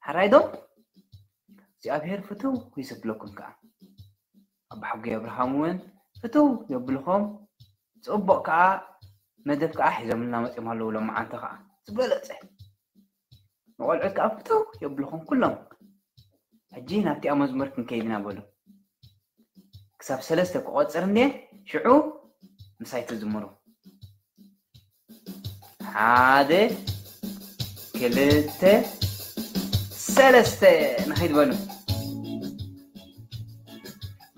ኣራይ ዶ እግዚኣብሔር ፍትው ይሰብለኩም ከዓ። ኣባ ሓጎይ ኣብርሃም እውን ፍትው የብልኹም። ጽቡቕ ከዓ መደብ ከዓ ሒዞምልና መጺኦም ኣለዉ። ሎማዓንቲ ከዓ ዝበለጸ ንቆልዑት ከዓ ፍትው የብልኹም ኩሎም። ሕጂ ናብቲኣ መዝሙር ክንከይድና በሉ። ክሳብ ሰለስተ ክቆጽር እንዴ፣ ሽዑ ምሳይ ትዝምሩ። ሓደ፣ ክልተ፣ ሰለስተ፣ ንኸይድ በሉ።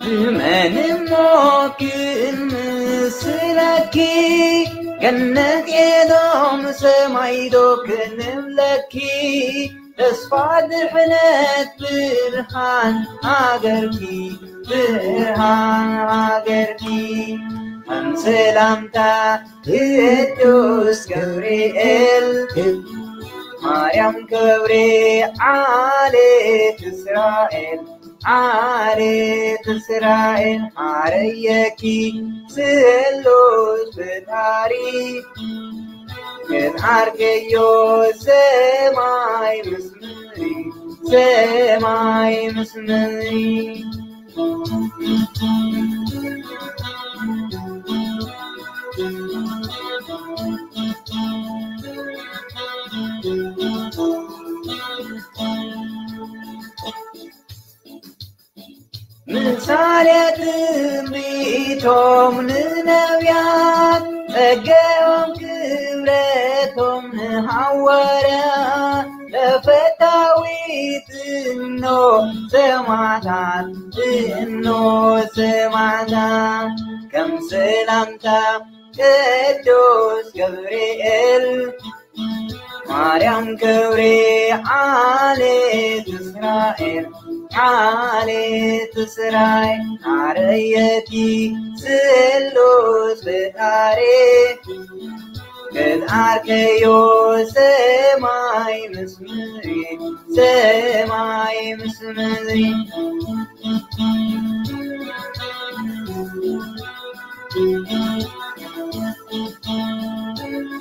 ብመን እሞ ክምስለኪ፣ ገነት ኤዶም ሰማይ ዶ ክንብለኪ፣ ተስፋ ድሕነት ብርሃን ሃገርኪ፣ ብርሃን ሃገርኪ። ከም ሰላምታ ቅዱስ ገብርኤል፣ ማርያም ክብሪ ዓሌት እስራኤል፣ ዓሌት እስራኤል፣ ሓረየኪ ስሉስ ፈጣሪ። ክትዓርከዮ ሰማይ ምስ ምድሪ፣ ሰማይ ምስ ምድሪ። ምሳሌ ትንቢቶም ንነቢያት፣ ጸጋኦም ክብረቶም ንሃዋርያት፣ ለፈታዊት እኖ ሰማዕታት፣ እኖ ሰማዕታት፣ ከም ሰላምታ ቅዱስ ገብርኤል፣ ማርያም ክብሪ ዓሌት እስራኤል፣ ዓሌት እስራኤል፣ ሓረየቲ ስሉስ ፈጣሪ። ክትዓርከዮ ሰማይ ምስ ምድሪ፣ ሰማይ ምስ ምድሪ።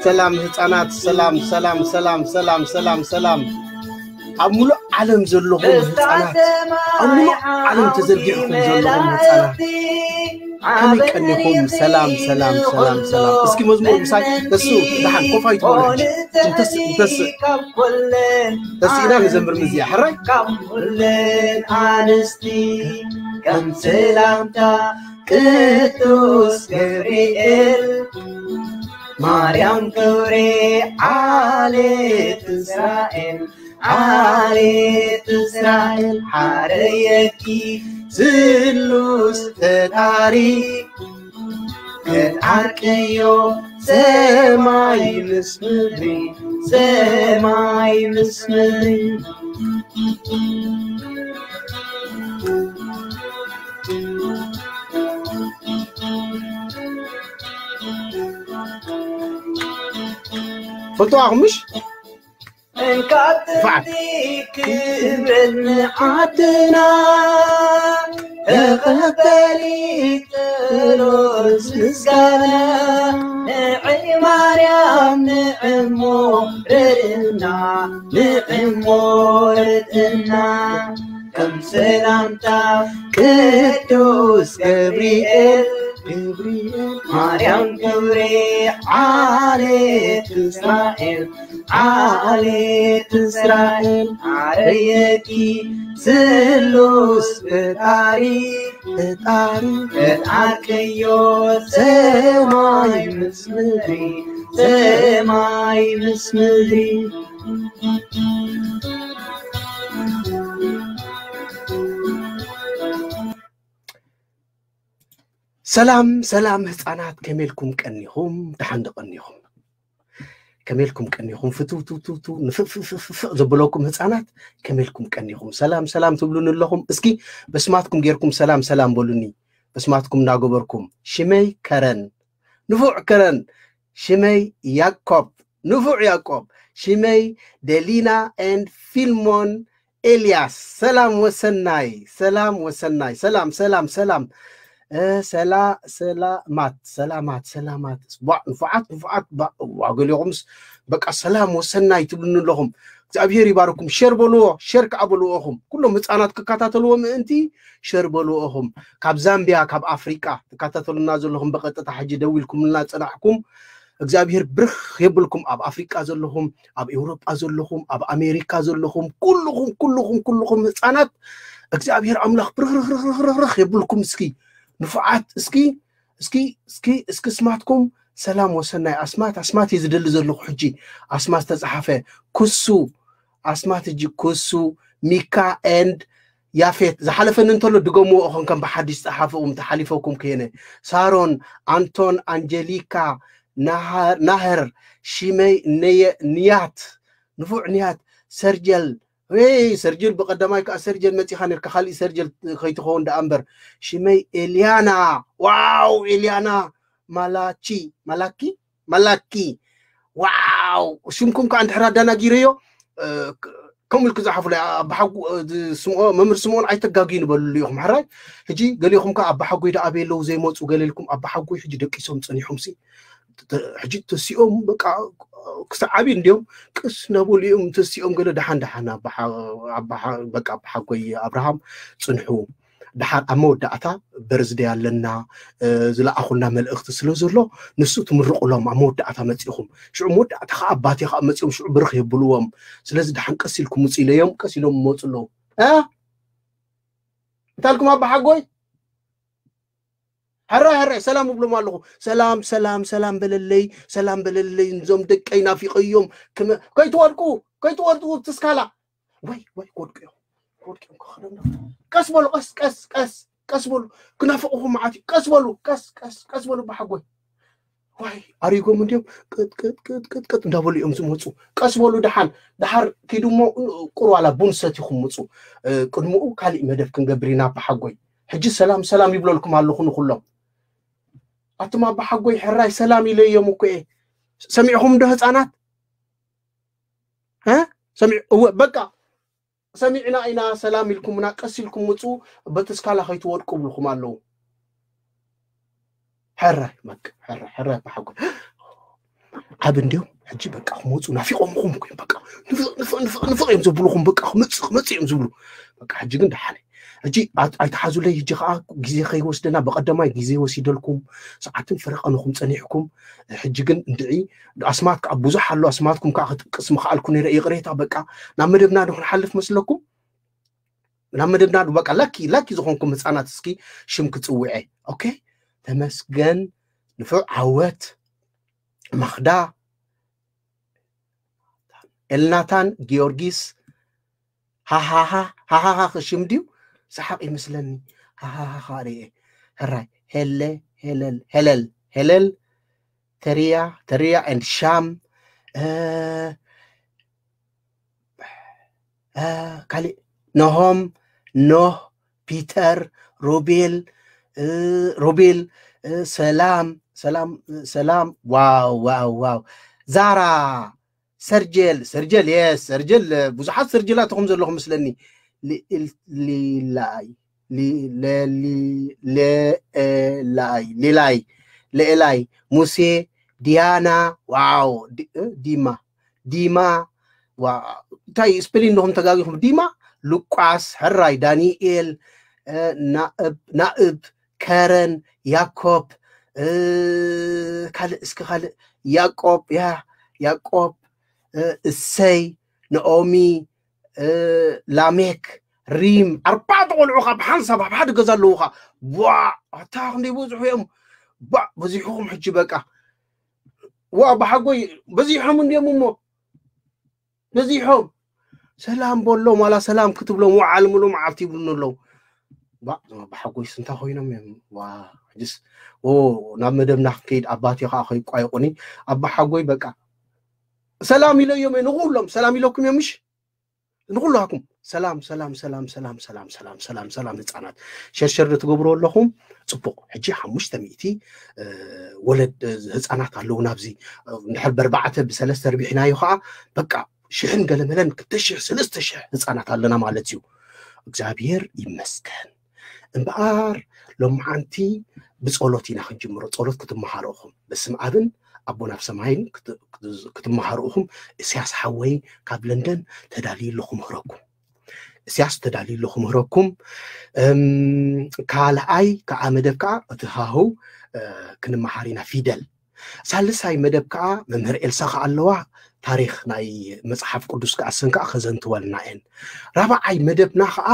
ሰላም ህፃናት፣ ሰላም፣ ሰላም፣ ሰላም፣ ሰላም፣ ሰላም፣ ሰላም። ኣብ ሙሉእ ዓለም ዘለኹም ህፃናት፣ ኣብ ሙሉእ ዓለም ተዘርጊሕኩም ዘለኹም ህፃናት፣ ከመይ ቀኒኹም? ሰላም፣ ሰላም፣ ሰላም፣ ሰላም። እስኪ መዝሙር ምሳይ ተስኡ፣ ደሓን ኮፍ ኣይትበሉ ሕጂ። እንተስ-፣ እንተስ-፣ ተስኢና ንዘምር ምዚያ፣ ሕራይ? ካብ ኩለን ኣንስቲ ከም ሰላምታ ቅዱስ ገብርኤል፣ ማርያም ክብሪ ዓሌት እስራኤል፣ ዓሌት እስራኤል፣ ሓረየኪ ስሉስ ፈጣሪ። ክትዓርቅዮ ሰማይ ምስ ምድሪ፣ ሰማይ ምስ ምድሪ። ፈልጥዋ ምሽ? እንካብ ጥንቲ ክብርን ዓድና ተቐበሊ ጸሎት ምስጋና። ንዒ ማርያም ንዕሞ ርድእና፣ ንዕሞ ርድእና። ከም ሰላምታ ቅዱስ ገብርኤል፣ ገብርኤል፣ ማርያም ክብሪ ዓሌት እስራኤል፣ ዓሌት እስራኤል፣ ዓረየኪ ስሉስ ፈጣሪ፣ ፈጣሪ፣ ክትዓርቅዮ ሰማይ ምስ ምድሪ፣ ሰማይ ምስ ምድሪ። ሰላም፣ ሰላም ህፃናት፣ ከመይ ኢልኩም ቀኒኹም? ደሓን ዶ ቀኒኹም? ከመይ ኢልኩም ቀኒኹም? ፍትው፣ ትው፣ ትው፣ ትው፣ ንፍእ፣ ፍእ፣ ፍእ፣ ፍእ፣ ፍእ ዘበለኩም ህፃናት፣ ከመይ ኢልኩም ቀኒኹም? ሰላም፣ ሰላም ትብሉኒ ኣለኹም? እስኪ በስማትኩም ጌርኩም ሰላም፣ ሰላም በሉኒ። በስማትኩም እናገበርኩም። ሽመይ ከረን፣ ንፉዕ ከረን። ሽመይ ያዕቆብ፣ ንፉዕ ያዕቆብ። ሽመይ ደሊና ኤንድ ፊልሞን ኤልያስ። ሰላም ወሰናይ፣ ሰላም ወሰናይ። ሰላም፣ ሰላም፣ ሰላም። እ፣ ሰላ-፣ ሰላማት፣ ሰላማት፣ ሰላማት። ቧዕ፣ ንፉዓት፣ ንፉዓት። ባ-፣ ዋ፣ ገሊኹምስ በቃ ሰላም ወሰናይ ትብሉኒ ኣለኹም። እግዚኣብሔር ይባርኩም። ሸር በልዎ፣ ሸር ከዓ በልዎኹም ኩሎም ህፃናት ክከታተልዎ ምእንቲ ሸር በልዎኹም። ካብ ዛምቢያ፣ ካብ ኣፍሪቃ ትከታተሉና ዘለኹም፣ ብቐጥታ ሕጂ ደዊልኩምልና ፅናሕኩም፣ እግዚኣብሔር ብርኽ የብልኩም። ኣብ ኣፍሪቃ ዘለኹም፣ ኣብ ኤውሮጳ ዘለኹም፣ ኣብ ኣሜሪካ ዘለኹም፣ ኩልኹም ኩልኹም ኩልኹም ህፃናት እግዚኣብሔር ኣምላኽ ብርኽርኽርኽርኽ የብልኩም። እስኪ ንፉዓት፣ እስኪ እስኪ እስኪ እስኪ ስማትኩም ሰላም ወሰናይ። ኣስማት ኣስማት እየ ዝደሊ ዘለኹ ሕጂ። ኣስማት ዝተፅሓፈ ክሱ፣ ኣስማት እጂ ክሱ፣ ሚካ ኤንድ ያፌት። ዝሓለፈኒ እንተሎ ድገምዎ እኹም ከም ብሓድሽ ፀሓፍኹም ተሓሊፈኩም ከየነ። ሳሮን፣ ኣንቶን፣ ኣንጀሊካ፣ ናሃር፣ ናህር፣ ሽመይ፣ ነየ፣ ንያት፣ ንፉዕ ንያት፣ ሰርጀል፣ ወይ ሰርጀል ብቀዳማይ ከዓ ሰርጀል መፂኻ ነርካ፣ ካሊእ ሰርጀል ከይትኸውን ደኣ እምበር። ሽመይ ኤልያና። ዋው፣ ኤልያና ማላቺ፣ ማላኪ፣ ማላኪ። ዋው፣ ሽምኩም ከዓ እንድሕር ኣዳናጊረዮ ከምኡ ኢልክ ዝሓፉ ኣባሓጉ ስምኦ መምህር ስምኦን ኣይተጋግዩ ንበልሉ ኢኹም። ሕራይ ሕጂ ገሊኹም ከዓ ኣባሓጎይ ደኣ ኣበይ ኣለዉ ዘይመፁ ገለ ኢልኩም። ኣባሓጎይ ሕጂ ደቂሶም ፀኒሖምሲ ሕጂ ተሲኦም በቃ ክሳብ ዓብዩ እንዲዮም ቅስ እናበሉ እዮም ተሲኦም ገለ ደሓን ደሓን ኣባሓ- ኣባሓ- በቃ ኣባሓጎይ ኣብርሃም ፅንሑ። ደሓር ኣብ መወዳእታ በርዝደይ ኣለና ዝለኣኹልና መልእኽቲ ስለ ዘሎ ንሱ ትምርቑሎም ኣብ መወዳእታ መፂኹም ሽዑ መወዳእታ ከዓ ኣባቴ ከዓ መፂኦም ሽዑ ብርኽ የብልዎም። ስለዚ ደሓን ቀስ ኢልኩም ውፅ ኢለዮም ቀስ ኢሎም ይመፁ ኣለዉ። እ? እንታልኩም ኣባሓጎይ? ሕራይ ሕራይ ሰላም እብሎም ኣለኹ። ሰላም ሰላም ሰላም በለለይ ሰላም በለለይ እዞም ደቀይ ናፊቐዮም። ከይትወድቁ ከይትወድቁ ትስካላ። ወይ ወይ ክወድቁ እዮም ክወድቁ እዮም ክኸደም። ቀስ በሉ ቀስ ቀስ ቀስ ቀስ በሉ። ክናፍቕኹም መዓት እዩ። ቀስ በሉ ቀስ ቀስ ቀስ በሉ ኣባሓጎይ። ዋይ ኣሪጎም እንዲዮም ቅጥቅጥቅጥቅጥ እንዳበሉ እዮም ዝመፁ። ቀስ በሉ ደሓን ደሓር ኪዱ እሞ ቁርዋላ ቡን ሰቲኹም ምፁ። ቅድምኡ ካሊእ መደብ ክንገብር ኢና ኣባሓጎይ። ሕጂ ሰላም ሰላም ይብለልኩም ኣለኹ ንኩሎም። ኣቱም ኣባሓጎይ ሕራይ ሰላም ኢለዮም እኮ እየ። ሰሚዕኹም ዶ ህፃናት? እ? ሰሚዕ እወ በቃ ሰሚዕና ኢና ሰላም ኢልኩምና ቀስ ኢልኩም ምፁ። በቲ ስካላ ከይትወድቁ ብልኩም ኣለዉ። ሕራይ በቃ ሕራይ ሕራይ ኣባሓጎይ ዓብ እንዲዮም ሕጂ በቃ ክመፁ ናፊቆምኹም እኮ እዮም። በቃ ንፍቕ ንፍቕ ንፍቕ ንፍቕ እዮም ዘብልኹም። በቃ ክመፅእ ክመፅእ እዮም ዝብሉ። በቃ ሕጂ ግን ደሓነ ሕጂ ኣት- ኣይትሓዙለይ። ሕጂ ከዓ ግዜ ከይወስደና ብቀዳማይ ግዜ ወሲደልኩም ሰዓትን ፈረቐንኹም ፀኒሕኩም። ሕጂ ግን እንድዒ ኣስማት ከዓ ብዙሕ ኣሎ። ኣስማትኩም ከዓ ክጥቅስ ምክኣልኩ ነይረ ይቕሬታ። በቃ ናብ መደብና ዶ ክንሓልፍ መስለኩም? ናብ መደብና ዶ በቃ ላኪ ላኪ ዝኾንኩም ህፃናት እስኪ ሽም ክፅውዐ። ኦኬ ተመስገን ንፉዕ ዓወት ማኽዳ ኤልናታን ጊዮርጊስ ሃሃሃ ሃሃሃ ክሽም ድዩ ሰሓቕ ይመስለኒ። ሃሃሃ ርኤ ሕራይ ሄለ ሄለል ሄለል ሄለል ተሪያ ተሪያ and ሻም ካሊእ ኖሆም ኖህ ፒተር ሮቤል ሮቤል ሰላም ሰላም ሰላም ዋው ዋው ዋው ዛራ ሰርጀል ሰርጀል የስ ሰርጀል ብዙሓት ሰርጀላት ኢኹም ዘለኹም መስለኒ። ሊላይ ሌላይ ሌላይ ሙሴ ዲያና ዋው ዲማ ዲማ እንታይ ስፔሊን ዲኹም ተጋጊኹም ዲማ ሉቃስ ሕራይ ዳንኤል ናእብ ናእብ ከረን ያኮብ ካልእ እስኪ ካልእ ያቆብ ያ ያቆብ እሰይ ነኦሚ ላሜክ ሪም ኣርባዕተ ቆልዑ ካብ ሓንሳብ ኣብ ሓደ ገዛ ኣለዉ ካ ዋ ኣታ ክንደይ ብዙሑ እዮም ባ በዚሕኹም ሕጂ በቃ ዋ ብሓጎይ በዚሖም እንዲዮም እሞ በዚሖም ሰላም በሎም ዋላ ሰላም ክትብሎም ወዓል ምሉ መዓልቲ ይብሉኒ ኣለዉ ብሓጎይስ እንታይ ኮይኖም እዮም ሕጅስ ናብ መደብና ክንከይድ ኣባቴ ከዓ ከይቋየቁኒ ኣባሓጎይ በቃ ሰላም ኢለዮም እዮም ንኩሎም ሰላም ኢለኩም እዮም ምሽ ንኩላኩም ሰላም ሰላም ሰላም ሰላም ሰላም ሰላም ሰላም ሰላም ህፃናት ሸርሸር ትገብሩ ኣለኹም ፅቡቅ ሕጂ ሓሙሽተ ሚእቲ ወለድ ህፃናት ኣለዉ ናብዚ እንድሕር በርባዕተ ብሰለስተ ርቢሕናዮ ከዓ በቃ ሽሕን ገለመለን ክልተ ሽሕ ሰለስተ ሽሕ ህፃናት ኣለና ማለት እዩ እግዚኣብሔር ይመስገን እምበኣር ሎማዓንቲ ብፀሎት ኢና ክንጅምሮ ፀሎት ክትመሃሩ ኢኹም በስም ኣብን ኣቦና ኣብ ሰማይን ክትመሃሩ ኢኹም። እስያስ ሓወይ ካብ ለንደን ተዳልዩ ኣሎ ክምህረኩም። እስያስ ተዳልዩ ኣሎ ክምህረኩም። ካልኣይ ከዓ መደብ ከዓ እቲ ሃሁ ክንመሃር ኢና ፊደል። ሳልሳይ መደብ ከዓ መምህር ኤልሳ ከዓ ኣለዋ። ታሪኽ ናይ መፅሓፍ ቅዱስ ከዓ እሰን ከዓ ከዘንትወልና እየን። ራብዓይ መደብና ከዓ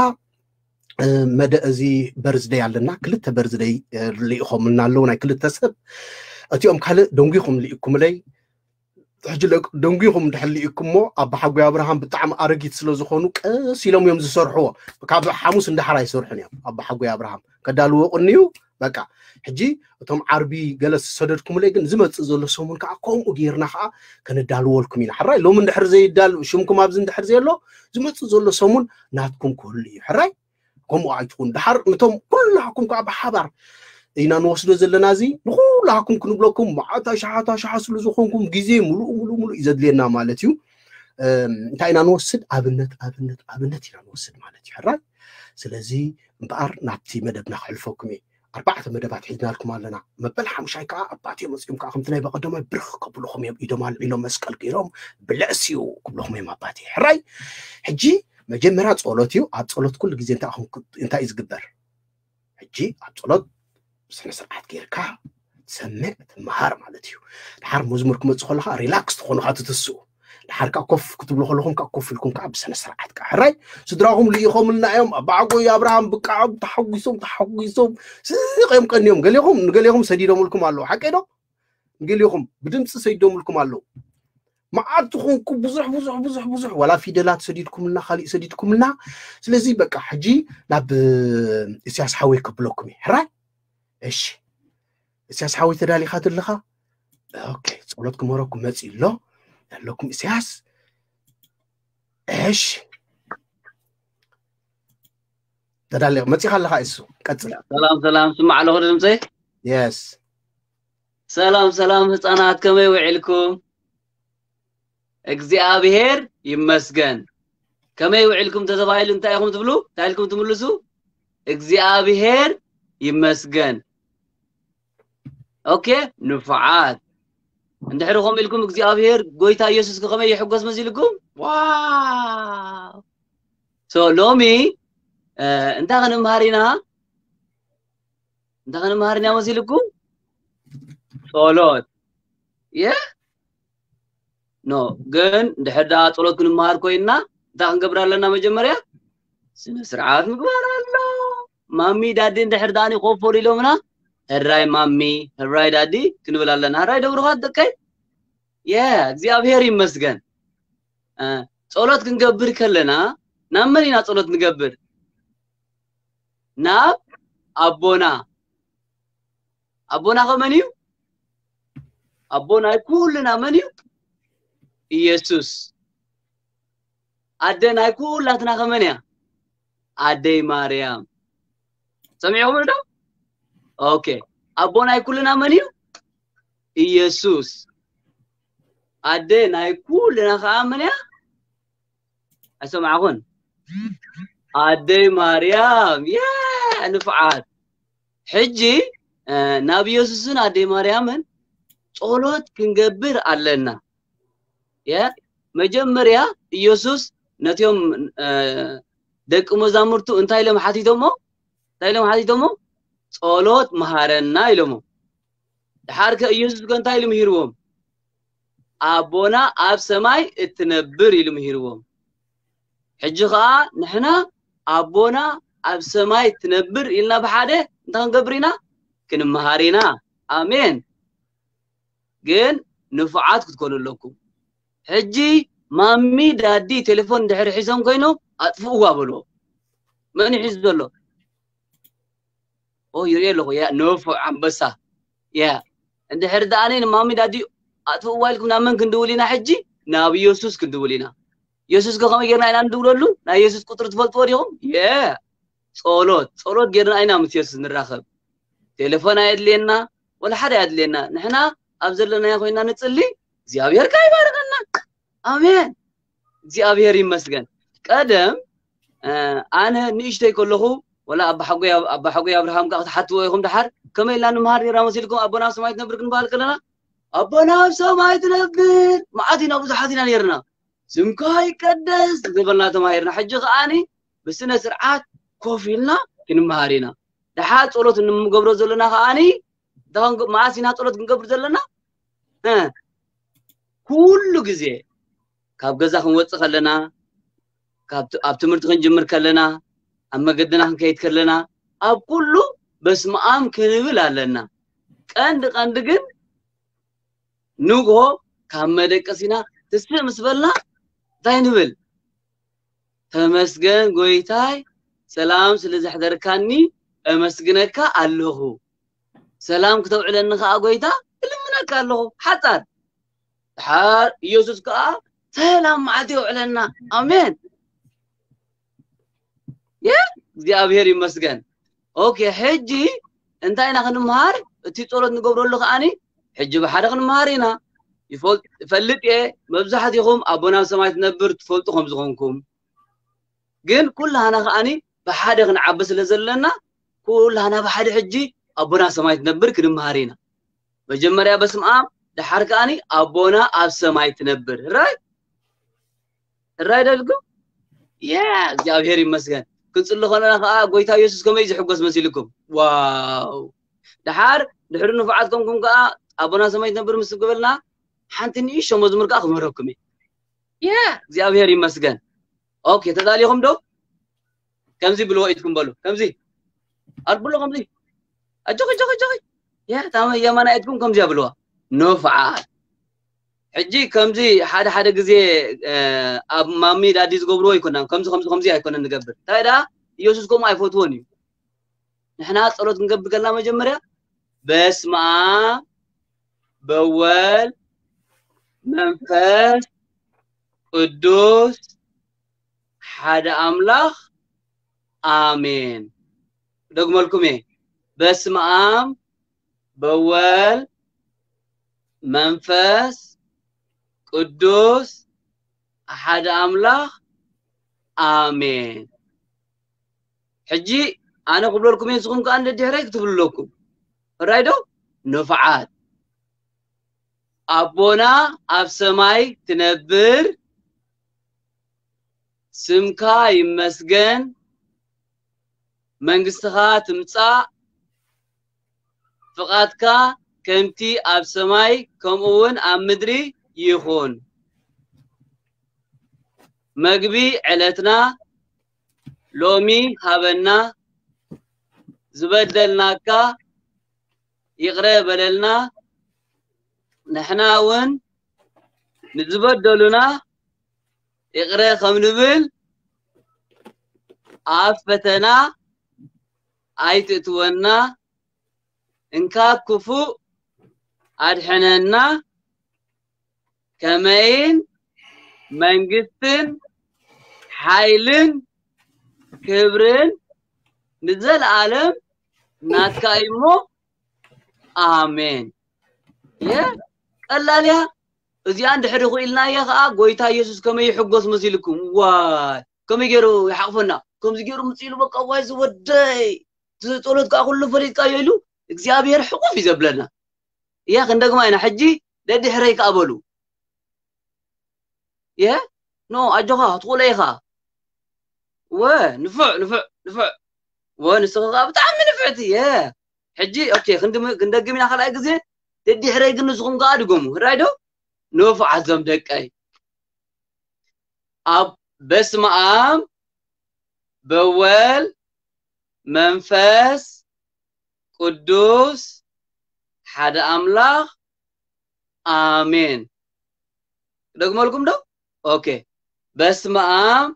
መደ እዚ በርዝደይ ኣለና። ክልተ በርዝደይ ልኢኾምልና ኣለዉ ናይ ክልተ ሰብ። እቲኦም ካልእ ደንጒኹም ልኢኩምለይ። ሕጂ ደንጒኹም እንድሕር ልኢኩሞ ኣባ ሓጎይ ኣብርሃም ብጣዕሚ ኣረጊት ስለ ዝኾኑ ቀስ ኢሎም እዮም ዝሰርሕዎ። ካብ ሓሙስ እንዳሓር ኣይሰርሑን እዮም ኣባ ሓጎይ ኣብርሃም። ከዳልዎ ቅንዩ በቃ። ሕጂ እቶም ዓርቢ ገለ ዝሰደድኩምለይ ግን ዝመፅእ ዘሎ ሰሙን ከዓ ከምኡ ጌርና ከዓ ከነዳልወልኩም ኢና። ሕራይ ሎሚ እንድሕር ዘይዳል ሽምኩም ኣብዚ እንድሕር ዘየሎ ዝመፅእ ዘሎ ሰሙን ናትኩም ክህሉ እዩ። ሕራይ ከምኡ ኣይትኹን። ድሓር ነቶም ኩላኩም ከዓ ብሓባር ኢና ንወስዶ ዘለና። እዚ ንኩላኩም ክንብለኩም መዓት ኣሽሓት ኣሽሓት ስሉ ዝኾንኩም ግዜ ሙሉእ ሙሉእ ሙሉእ እዩ ዘድልየና ማለት እዩ። እንታይ ኢና ንወስድ? ኣብነት ኣብነት ኣብነት ኢና ንወስድ ማለት እዩ። ሕራይ ስለዚ እምበኣር ናብቲ መደብና ክሕልፈኩም እየ። ኣርባዕተ መደባት ሒዝናልኩም ኣለና። መበል ሓሙሻይ ከዓ ኣባቴ መፅኦም ከዓ ከምቲ ናይ በቀደማይ ብርኽ ከብልኹም እዮም። ኢዶም ኣልዒሎም መስቀል ገይሮም ብለእስ እዩ ክብልኹም እዮም ኣባቴ። ሕራይ ሕጂ መጀመርያ ጸሎት እዩ። ኣብ ጸሎት ኩሉ ግዜ እንታይ እዩ ዝግበር? ሕጂ ኣብ ጸሎት ስነ ስርዓት ጌርካ ትሰምዕ ትመሃር ማለት እዩ። ድሓር መዝሙር ክመጽእ ከለኻ ሪላክስ ትኾኑ ካ ትትስኡ። ድሓር ካ ኮፍ ክትብሉ ከለኹም ካ ኮፍ ኢልኩም ካ ብስነ ስርዓት ካ ሕራይ ስድራኹም ልኢኾምልና እዮም። ኣባዓጎይ ኣብርሃም ብቃዖም ተሓጒሶም ተሓጒሶም ስቕ እዮም ቀንዮም። ገሌኹም ንገሌኹም ሰዲዶምልኩም ኣለዉ። ሓቀይ ዶ? ንገሌኹም ብድምፂ ሰዲዶምልኩም ኣለዉ። መዓት ትኾንኩ ብዙሕ ብዙሕ ብዙሕ ብዙሕ ዋላ ፊደላት ሰዲድኩምልና ካሊእ ሰዲድኩምልና። ስለዚ በቃ ሕጂ ናብ እስያስ ሓወይ ከብለኩም እዩ። ሕራይ እሺ እስያስ ሓወይ ተዳሊኻ ትልኻ? ኦኬ ጸሎት ክመረኩም መጺ ኣሎ ኣለኩም እስያስ። እሺ ተዳሊ መጺኻ ኣለኻ እሱ ቀጽል። ሰላም ሰላም ስማዕ ኣለኹ ድምፀይ። የስ ሰላም ሰላም ህፃናት ከመይ ውዒልኩም? እግዚኣብሔር ይመስገን። ከመይ ውዒልኩም ተተባሂሉ እንታይ ኢኹም ትብሉ? እንታይ ኢልኩም ትምልሱ? እግዚኣብሔር ይመስገን። ኦኬ ንፉዓት። እንድሕሪ ከምኡ ኢልኩም እግዚኣብሔር ጎይታ ኢየሱስ ከመይ ይሕጎስ መሲልኩም? ዋው። ሶ ሎሚ እንታይ ክንምሃር ኢና? እንታይ ክንምሃር ኢና መሲልኩም? ጸሎት። የ ኖ ግን ድሕር ደኣ ጸሎት ክንምሃር ኮይንና እንታይ ክንገብር ኣለና? መጀመርያ ስነ ስርዓት ምግባር ኣሎ። ማሚ ዳዲ እንድሕር ደኣ ኮፍ በሉ ኢሎምና፣ ሕራይ ማሚ፣ ሕራይ ዳዲ ክንብል ኣለና። ሕራይ ደብሩኻት ደቀይ? የ እግዚኣብሔር ይመስገን። ጸሎት ክንገብር ከለና ናብ መን ኢና ጸሎት ንገብር? ናብ ኣቦና። ኣቦና ከ መን እዩ? ኣቦ ናይ ኩልና መን እዩ? ኢየሱስ። ኣደ ናይ ኩላትና ከ መን እያ? ኣደይ ማርያም። ሰሚዕኹም ዶ? ኦኬ። ኣቦ ናይ ኩልና መን እዩ? ኢየሱስ። ኣደ ናይ ኩልና ከኣ መን እያ? ኣይሰማዕኹን? ኣደይ ማርያም። የ ንፍዓት። ሕጂ ናብ ኢየሱስን ኣደይ ማርያምን ጸሎት ክንገብር ኣለና። የ መጀመርያ ኢየሱስ ነቲኦም ደቂ መዛሙርቱ እንታይ ኢሎም ሓቲቶሞ? እንታይ ኢሎም ሓቲቶሞ? ጸሎት መሃረና ኢሎሞ። ድሓር ከ ኢየሱስ ከ እንታይ ኢሉ ምሂርዎም? ኣቦና ኣብ ሰማይ እትነብር ኢሉ ምሂርዎም። ሕጂ ኸዓ ንሕና ኣቦና ኣብ ሰማይ ትነብር ኢልና ብሓደ እንታይ ክንገብር ኢና? ክንመሃር ኢና። ኣሜን። ግን ንፉዓት ክትኮኑ ኣለኩም። ሕጂ ማሚ ዳዲ ቴሌፎን እንድሕር ሒዞም ኮይኖም ኣጥፍእዋ በልዎ። መን ሒዙ ዘሎ? ኦ ይርኢ ኣለኹ። ያ ንፉዕ ኣንበሳ። ያ እንድሕር ደኣ ንማሚ ዳዲ ኣጥፍእዋ ኢልኩም ናብ መን ክንድውል ኢና ሕጂ? ናብ ኢየሱስ ክንድውል ኢና። ኢየሱስ ከ ከመይ ጌርና ኢና ንድውለሉ? ናይ ኢየሱስ ቁፅሪ ትፈልጥዎ ዲኹም? የ ጸሎት ጸሎት ጌርና ኢና ምስ ኢየሱስ ንራኸብ። ቴሌፎን ኣየድልየና ወላ ሓደ ኣየድልየና። ንሕና ኣብ ዘለናዮ ኮይና ንጽሊ እግዚኣብሔር ከ ይባርኸና። ኣሜን። እግዚኣብሔር ይመስገን። ቀደም ኣነ ንእሽተይ ከለኹ ወላ ኣባ ሓጎይ ኣብርሃም ከዓ ክትሓትዎ ኢኹም ድሓር ከመይ ኢልና ንምሃር ነይራ መሲልኩም ኣቦና ኣብ ሰማይ ትነብር ክንበሃል ከለና ኣቦና ኣብ ሰማይ ትነብር። መዓት ኢና ብዙሓት ኢና ነርና። ስምካ ይቀደስ ዝበልና ተማሂርና። ሕጂ ከኣኒ ብስነ ስርዓት ኮፍ ኢልና ክንመሃር ኢና። ድሓር ጸሎት እንገብሮ ዘለና ከኣኒ መዓስ ኢና ጸሎት ክንገብር ዘለና? ኩሉ ግዜ ካብ ገዛ ክንወጽእ ከለና፣ ኣብ ትምህርቲ ክንጅምር ከለና፣ ኣብ መገድና ክንከይድ ከለና፣ ኣብ ኩሉ በስመ ኣብ ክንብል ኣለና። ቀንዲ ቀንዲ ግን ንግሆ ካብ መደቀሲና ትስእ ምስ በልና እንታይ ንብል? ተመስገን ጎይታይ፣ ሰላም ስለ ዘሕደርካኒ እመስግነካ ኣለኹ። ሰላም ክተውዕለኒ ከኣ ጎይታ እልምነካ ኣለኹ። ሓጻር ድሓር ኢየሱስ ከኣ ሰላም መዓልቲ የውዕለና። ኣሜን። የ እግዚኣብሔር ይመስገን። ኦኬ፣ ሕጂ እንታይ ኢና ክንምሃር? እቲ ጸሎት ንገብረሉ ከኣኒ ሕጂ ብሓደ ክንምሃር ኢና። ይፈልጥ እየ፣ መብዛሕትኹም ኣቦና ኣብ ሰማይ ትነብር ትፈልጡ ከም ዝኾንኩም። ግን ኩላህና ከኣኒ ብሓደ ክንዓቢ ስለ ዘለና ኩላህና ብሓደ ሕጂ ኣቦና ኣብ ሰማይ ትነብር ክንምሃር ኢና። መጀመርያ በስመ ኣብ፣ ድሓር ከኣኒ ኣቦና ኣብ ሰማይ ትነብር። ራይ ራይ ደልኩም ያ እግዚኣብሔር ይመስገን። ክንጽሊ ከለና ከኣ ጎይታ ኢየሱስ ከመይ ዝሕጎስ መሲልኩም? ዋው! ድሓር ድሕሪ ንፉዓት ከምኩም ከኣ ኣቦና ሰማይ ትነብር ምስ ገበልና ሓንቲ ንእሽቶ መዝሙር ከኣ ክምህረኩም እየ። ያ እግዚኣብሔር ይመስገን። ኦኬ፣ ተዳሊኹም ዶ? ከምዚ ብልዎ ኢድኩም በሉ። ከምዚ ኣልብሎ ከምዚ ኣጆኺ ኣጆኺ ኣጆኺ ያ ታመ የማና ኢድኩም ከምዚ ኣብልዋ። ንፉዓት ሕጂ ከምዚ ሓደ ሓደ ግዜ ኣብ ማሚ ዳዲ ዝገብርዎ ኣይኮናን። ከምዚ ከምዚ ከምዚ ኣይኮነን ንገብር። እንታይ ደኣ ኢየሱስ ከምኡ ኣይፈትዎን እዩ። ንሕና ጸሎት ክንገብር ከለና መጀመርያ በስመ ኣብ በወልድ መንፈስ ቅዱስ ሓደ ኣምላኽ ኣሜን። ደግመልኩም እየ። በስመ ኣብ በወልድ መንፈስ ቅዱስ ሓደ ኣምላኽ ኣሜን። ሕጂ ኣነ ክብለልኩም እየ፣ ንስኹም ከኣ ደድሕረይ ክትብሉ ኣለኩም። ሕራይ ዶ? ንፉዓት። ኣቦና ኣብ ሰማይ ትነብር፣ ስምካ ይመስገን፣ መንግስትኻ ትምጻእ፣ ፍቓድካ ከምቲ ኣብ ሰማይ ከምኡ እውን ኣብ ምድሪ ይኹን። መግቢ ዕለትና ሎሚ ሃበና፣ ዝበደልናካ ይቕረ በለልና፣ ንሕና እውን ንዝበደሉና ይቕረ ከም ንብል፣ ኣብ ፈተና ኣይትእትወና፣ እንካብ ክፉእ ኣድሕነና፣ ከመይን መንግስትን ሓይልን ክብርን ንዘለኣለም ናትካ እዩ እሞ ኣሜን። የ ቀላል እያ እዚኣ። እንድሕሪ ክኢልናያ ከዓ ጎይታ ኢየሱስ ከመይ ይሕጎስ መሲልኩም? ዋይ ከመይ ገይሩ ይሓቕፈና? ከምዚ ገይሩ ምፅእ ኢሉ በቃ ዋይ ዝወደይ እቲ ጸሎት ከዓ ኩሉ ፈሊጥካዮ ኢሉ እግዚኣብሔር ሕቑፍ እዩ ዘብለና። እያ ክንደግማ ኢና ሕጂ። ደድሕረይ ከዓ በሉ። የ ኖ ኣጆኻ ትኽእሎ ኢኻ። ወ ንፉዕ ንፉዕ ንፉዕ። ወ ንስኺ ከዓ ብጣዕሚ ንፍዕቲ። የ ሕጂ ኦኬ ክንድም- ክንደግም ኢና ካልኣይ ግዜ። ደድሕረይ ግን ንስኹም ከዓ ድገሙ። ሕራይ ዶ? ንፉዓት ዞም ደቀይ። ኣብ በስመ ኣብ በወልድ መንፈስ ቅዱስ ሓደ ኣምላኽ ኣሜን። ደግመልኩም ዶ? ኦኬ። በስመ ኣብ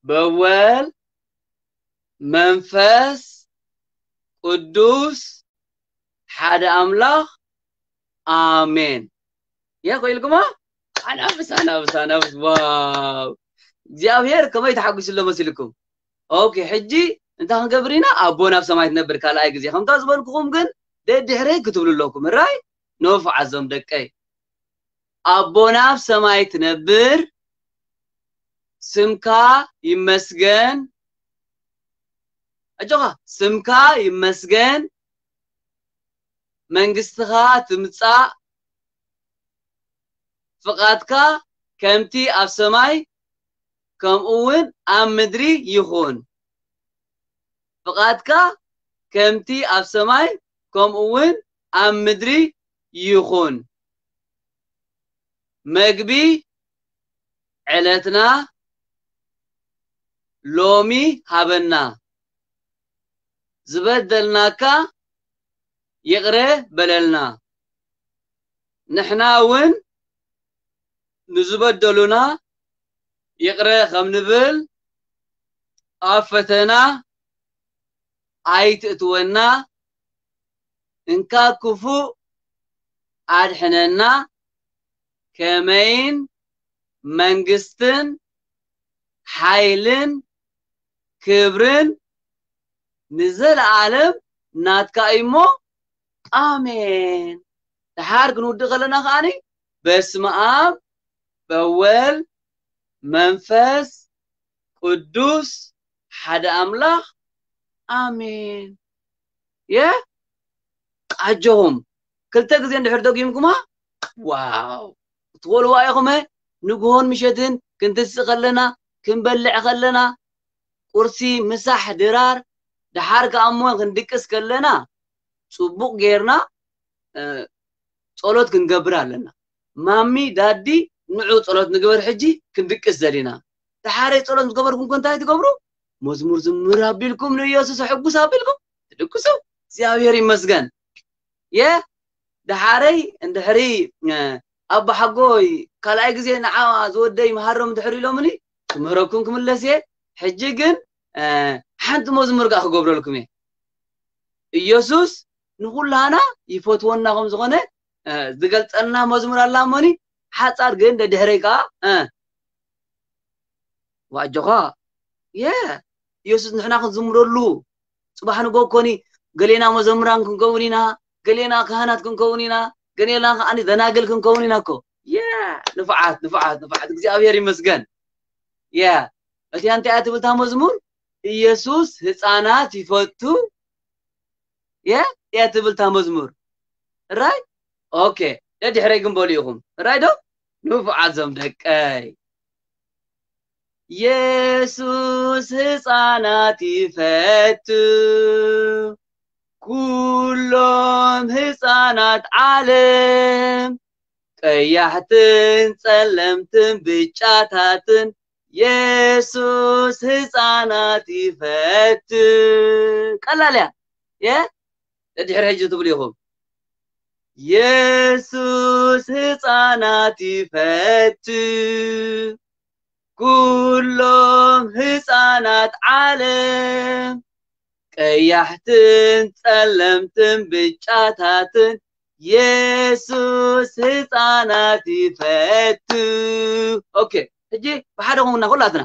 በወልድ መንፈስ ቅዱስ ሓደ ኣምላኽ ኣሜን። የ ኮይልኩማ ኣናብስ ኣናብስ ኣናብስ። ዋው እግዚኣብሔር ከመይ ተሓጒሱ ኣሎ መሲልኩም? ኦኬ ሕጂ እንታይ ክንገብር ኢና? ኣቦና ኣብ ሰማይ ትነብር ካልኣይ ግዜ ከምታ ዝበልኩኹም ግን ደድሕረይ ክትብሉ ኣለኩም። ራይ ኖፍ ዓዞም ደቀይ ኣቦና ኣብ ሰማይ ትነብር ስምካ ይመስገን። ኣጆኻ ስምካ ይመስገን መንግስትኻ ፍቓድካ ከምቲ ኣብ ሰማይ ከምኡ እውን ኣብ ምድሪ ይኹን። ፍቓድካ ከምቲ ኣብ ሰማይ ከምኡ እውን ኣብ ምድሪ ይኹን። መግቢ ዕለትና ሎሚ ሃበና። ዝበደልናካ ይቕረ በለልና። ንሕና እውን ንዝበደሉና ይቕረ ከም ንብል፣ ኣብ ፈተና ኣይትእትወና፣ እንካ ክፉእ ኣድሕነና። ከመይን መንግስትን ሓይልን ክብርን ንዘለኣለም ናትካ እዩ እሞ፣ ኣሜን። ደሓር ክንውድእ ከለና ከዓኒ፣ በስመ ኣብ በወል መንፈስ ቅዱስ ሓደ ኣምላኽ ኣሜን። የ ኣጆኹም፣ ክልተ ግዜ እንድሕር ደጊምኩማ፣ ዋው፣ ክትበልዋ ኢኹመ። ንግሆን ምሸትን ክንትስእ ከለና፣ ክንበልዕ ከለና፣ ቁርሲ ምሳሕ ድራር፣ ደሓር ከኣ እሞ ክንድቅስ ከለና፣ ጽቡቕ ጌርና ጸሎት ክንገብር ኣለና። ማሚ ዳዲ፣ ንዑ ጸሎት ንግበር፣ ሕጂ ክንድቅስ ዘሊና። ደሓረይ ጸሎት ዝገበርኩም ኮ እንታይ ትገብሩ? መዝሙር ዝምር ኣቢልኩም፣ ንኢየሱስ ሕጉስ ኣቢልኩም ትድቅሱ። እግዚኣብሔር ይመስገን። የ ደሓረይ እንድሕሪ ኣባ ሓጎይ ካልኣይ ግዜ ንዓ ዝወደይ መሃሮም ድሕሪ ኢሎምኒ፣ ክምህረኩም ክምለስ እየ። ሕጂ ግን ሓንቲ መዝሙር ከኣ ክገብረልኩም እየ። ኢየሱስ ንኹላና ይፈትወና ከም ዝኾነ ዝገልጸልና መዝሙር ኣላ እሞኒ፣ ሓጻር ግን ደድሕረይ ከኣ ዋጆኻ የ ኢየሱስ ንሕና ክንዝምረሉ፣ ጽባሕ ንጎ ኮኒ ገሌና መዘምራን ክንከውን ኢና፣ ገሌና ካህናት ክንከውን ኢና፣ ገሌና ከዓኒ ደናግል ክንከውን ኢና እኮ። የ ንፍዓት ንፍዓት ንፍዓት፣ እግዚኣብሔር ይመስገን። የ እቲኣ እንታይ እያ ትብል እታ መዝሙር? ኢየሱስ ህፃናት ይፈቱ የ እያ ትብል እታ መዝሙር። ራይ ኦኬ፣ ደድሕረይ ግን በሉ ኢኹም። ራይ ዶ ንፉዓት ዞም ደቀይ። የሱስ ህፃናት ይፈቱ፣ ኩሎም ህፃናት ዓለም፣ ቀያሕትን ጸለምትን ብጫታትን፣ የሱስ ህፃናት ይፈቱ። ቀላል እያ። የ ድሕሪ ሕጂ ትብሉ ኢኹም። የሱስ ህፃናት ይፈቱ፣ ኩሎም ህፃናት ዓለም፣ ቀያሕትን ጸለምትን ብጫታትን፣ የሱስ ህፃናት ይፈቱ። ኦኬ፣ ሕጂ ብሓደ ኾንና ኩላትና፣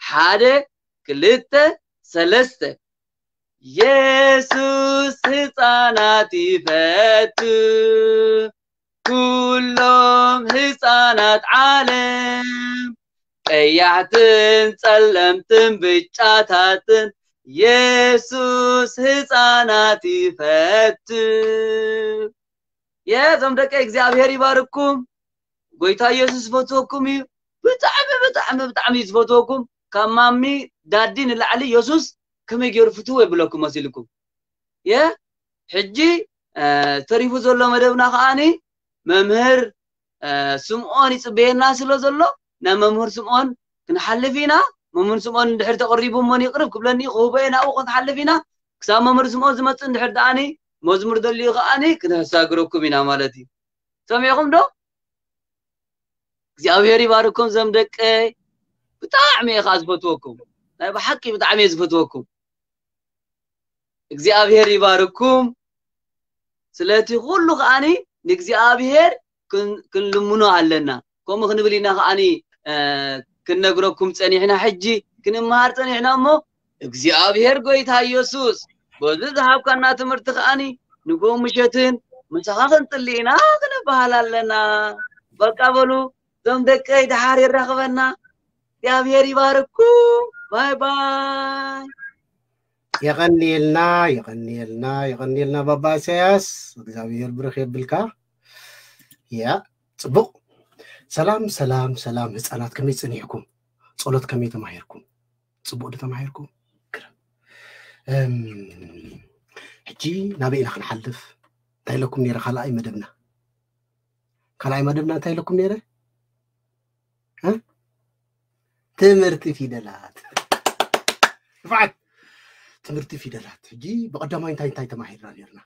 ሓደ፣ ክልተ፣ ሰለስተ። የሱስ ህፃናት ይፈቱ፣ ኩሎም ህፃናት ዓለም፣ ቀያሕትን ጸለምትን ብጫታትን፣ የሱስ ህፃናት ይፈቱ። የዞም ደቀይ እግዚኣብሔር ይባርኩም። ጎይታ ኢየሱስ ዝፈትወኩም እዩ። ብጣዕሚ ብጣዕሚ ብጣዕሚ እዩ ዝፈትወኩም። ካብ ማሚ ዳዲ ንላዕሊ ኢየሱስ ከመይ ገይሩ ፍትው የብለኩም መሲልኩም። የ ሕጂ ተሪፉ ዘሎ መደብና ከዓኒ መምህር ስምዖን ይፅበየና ስለ ዘሎ፣ ናብ መምህር ስምዖን ክንሓልፍ ኢና። መምህር ስምዖን እንድሕር ተቕሪቡ እሞን ይቕርብ ክብለኒ ክህቦ እየ፣ ናብኡ ክንሓልፍ ኢና። ክሳብ መምህር ስምዖን ዝመፅእ እንድሕር ደኣኒ መዝሙር ደልዩ ከዓኒ ክነሳግረኩም ኢና ማለት እዩ። ሰሚዕኹም ዶ? እግዚኣብሔር ይባርኩም ዘም ደቀይ። ብጣዕሚ እየ ከዓ ዝፈትወኩም፣ ናይ ብሓቂ ብጣዕሚ እየ ዝፈትወኩም። እግዚኣብሔር ይባርኩም። ስለቲ ኩሉ ከዓኒ ንእግዚኣብሔር ክንልምኖ ኣለና። ከምኡ ክንብል ኢና ከዓኒ ክንነግረኩም ፀኒሕና፣ ሕጂ ክንመሃር ፀኒሕና። እሞ እግዚኣብሔር ጎይታ ኢየሱስ በዚ ዝሃብካና ትምህርቲ ከዓኒ ንጎ ምሸትን ምሳኻ ክንፅሊ ኢና ክንበሃል ኣለና። በቃ በሉ ዞም ደቀይ፣ ደሓር የራኽበና። እግዚኣብሔር ይባርኩም። ባይ ባይ። የቐንየልና፣ የቐንየልና፣ የቐንየልና ባባ ኢሳያስ፣ እግዚኣብሔር ብርኽ የብልካ። ያ ጽቡቕ። ሰላም ሰላም ሰላም ህፃናት፣ ከመይ ፀኒሕኩም? ፀሎት ከመይ ተማሂርኩም? ፅቡቅ ዶ ተማሂርኩም? ግርም። እም፣ ሕጂ ናበይ ኢና ክንሓልፍ? እንታይ ኢለኩም ነይረ? ካልኣይ መደብና ካልኣይ መደብና እንታይ ኢለኩም ነይረ? እ? ትምህርቲ ፊደላት። ንፍዓት ትምህርቲ ፊደላት። ሕጂ ብቐዳማይ እንታይ እንታይ ተማሂርና ነርና?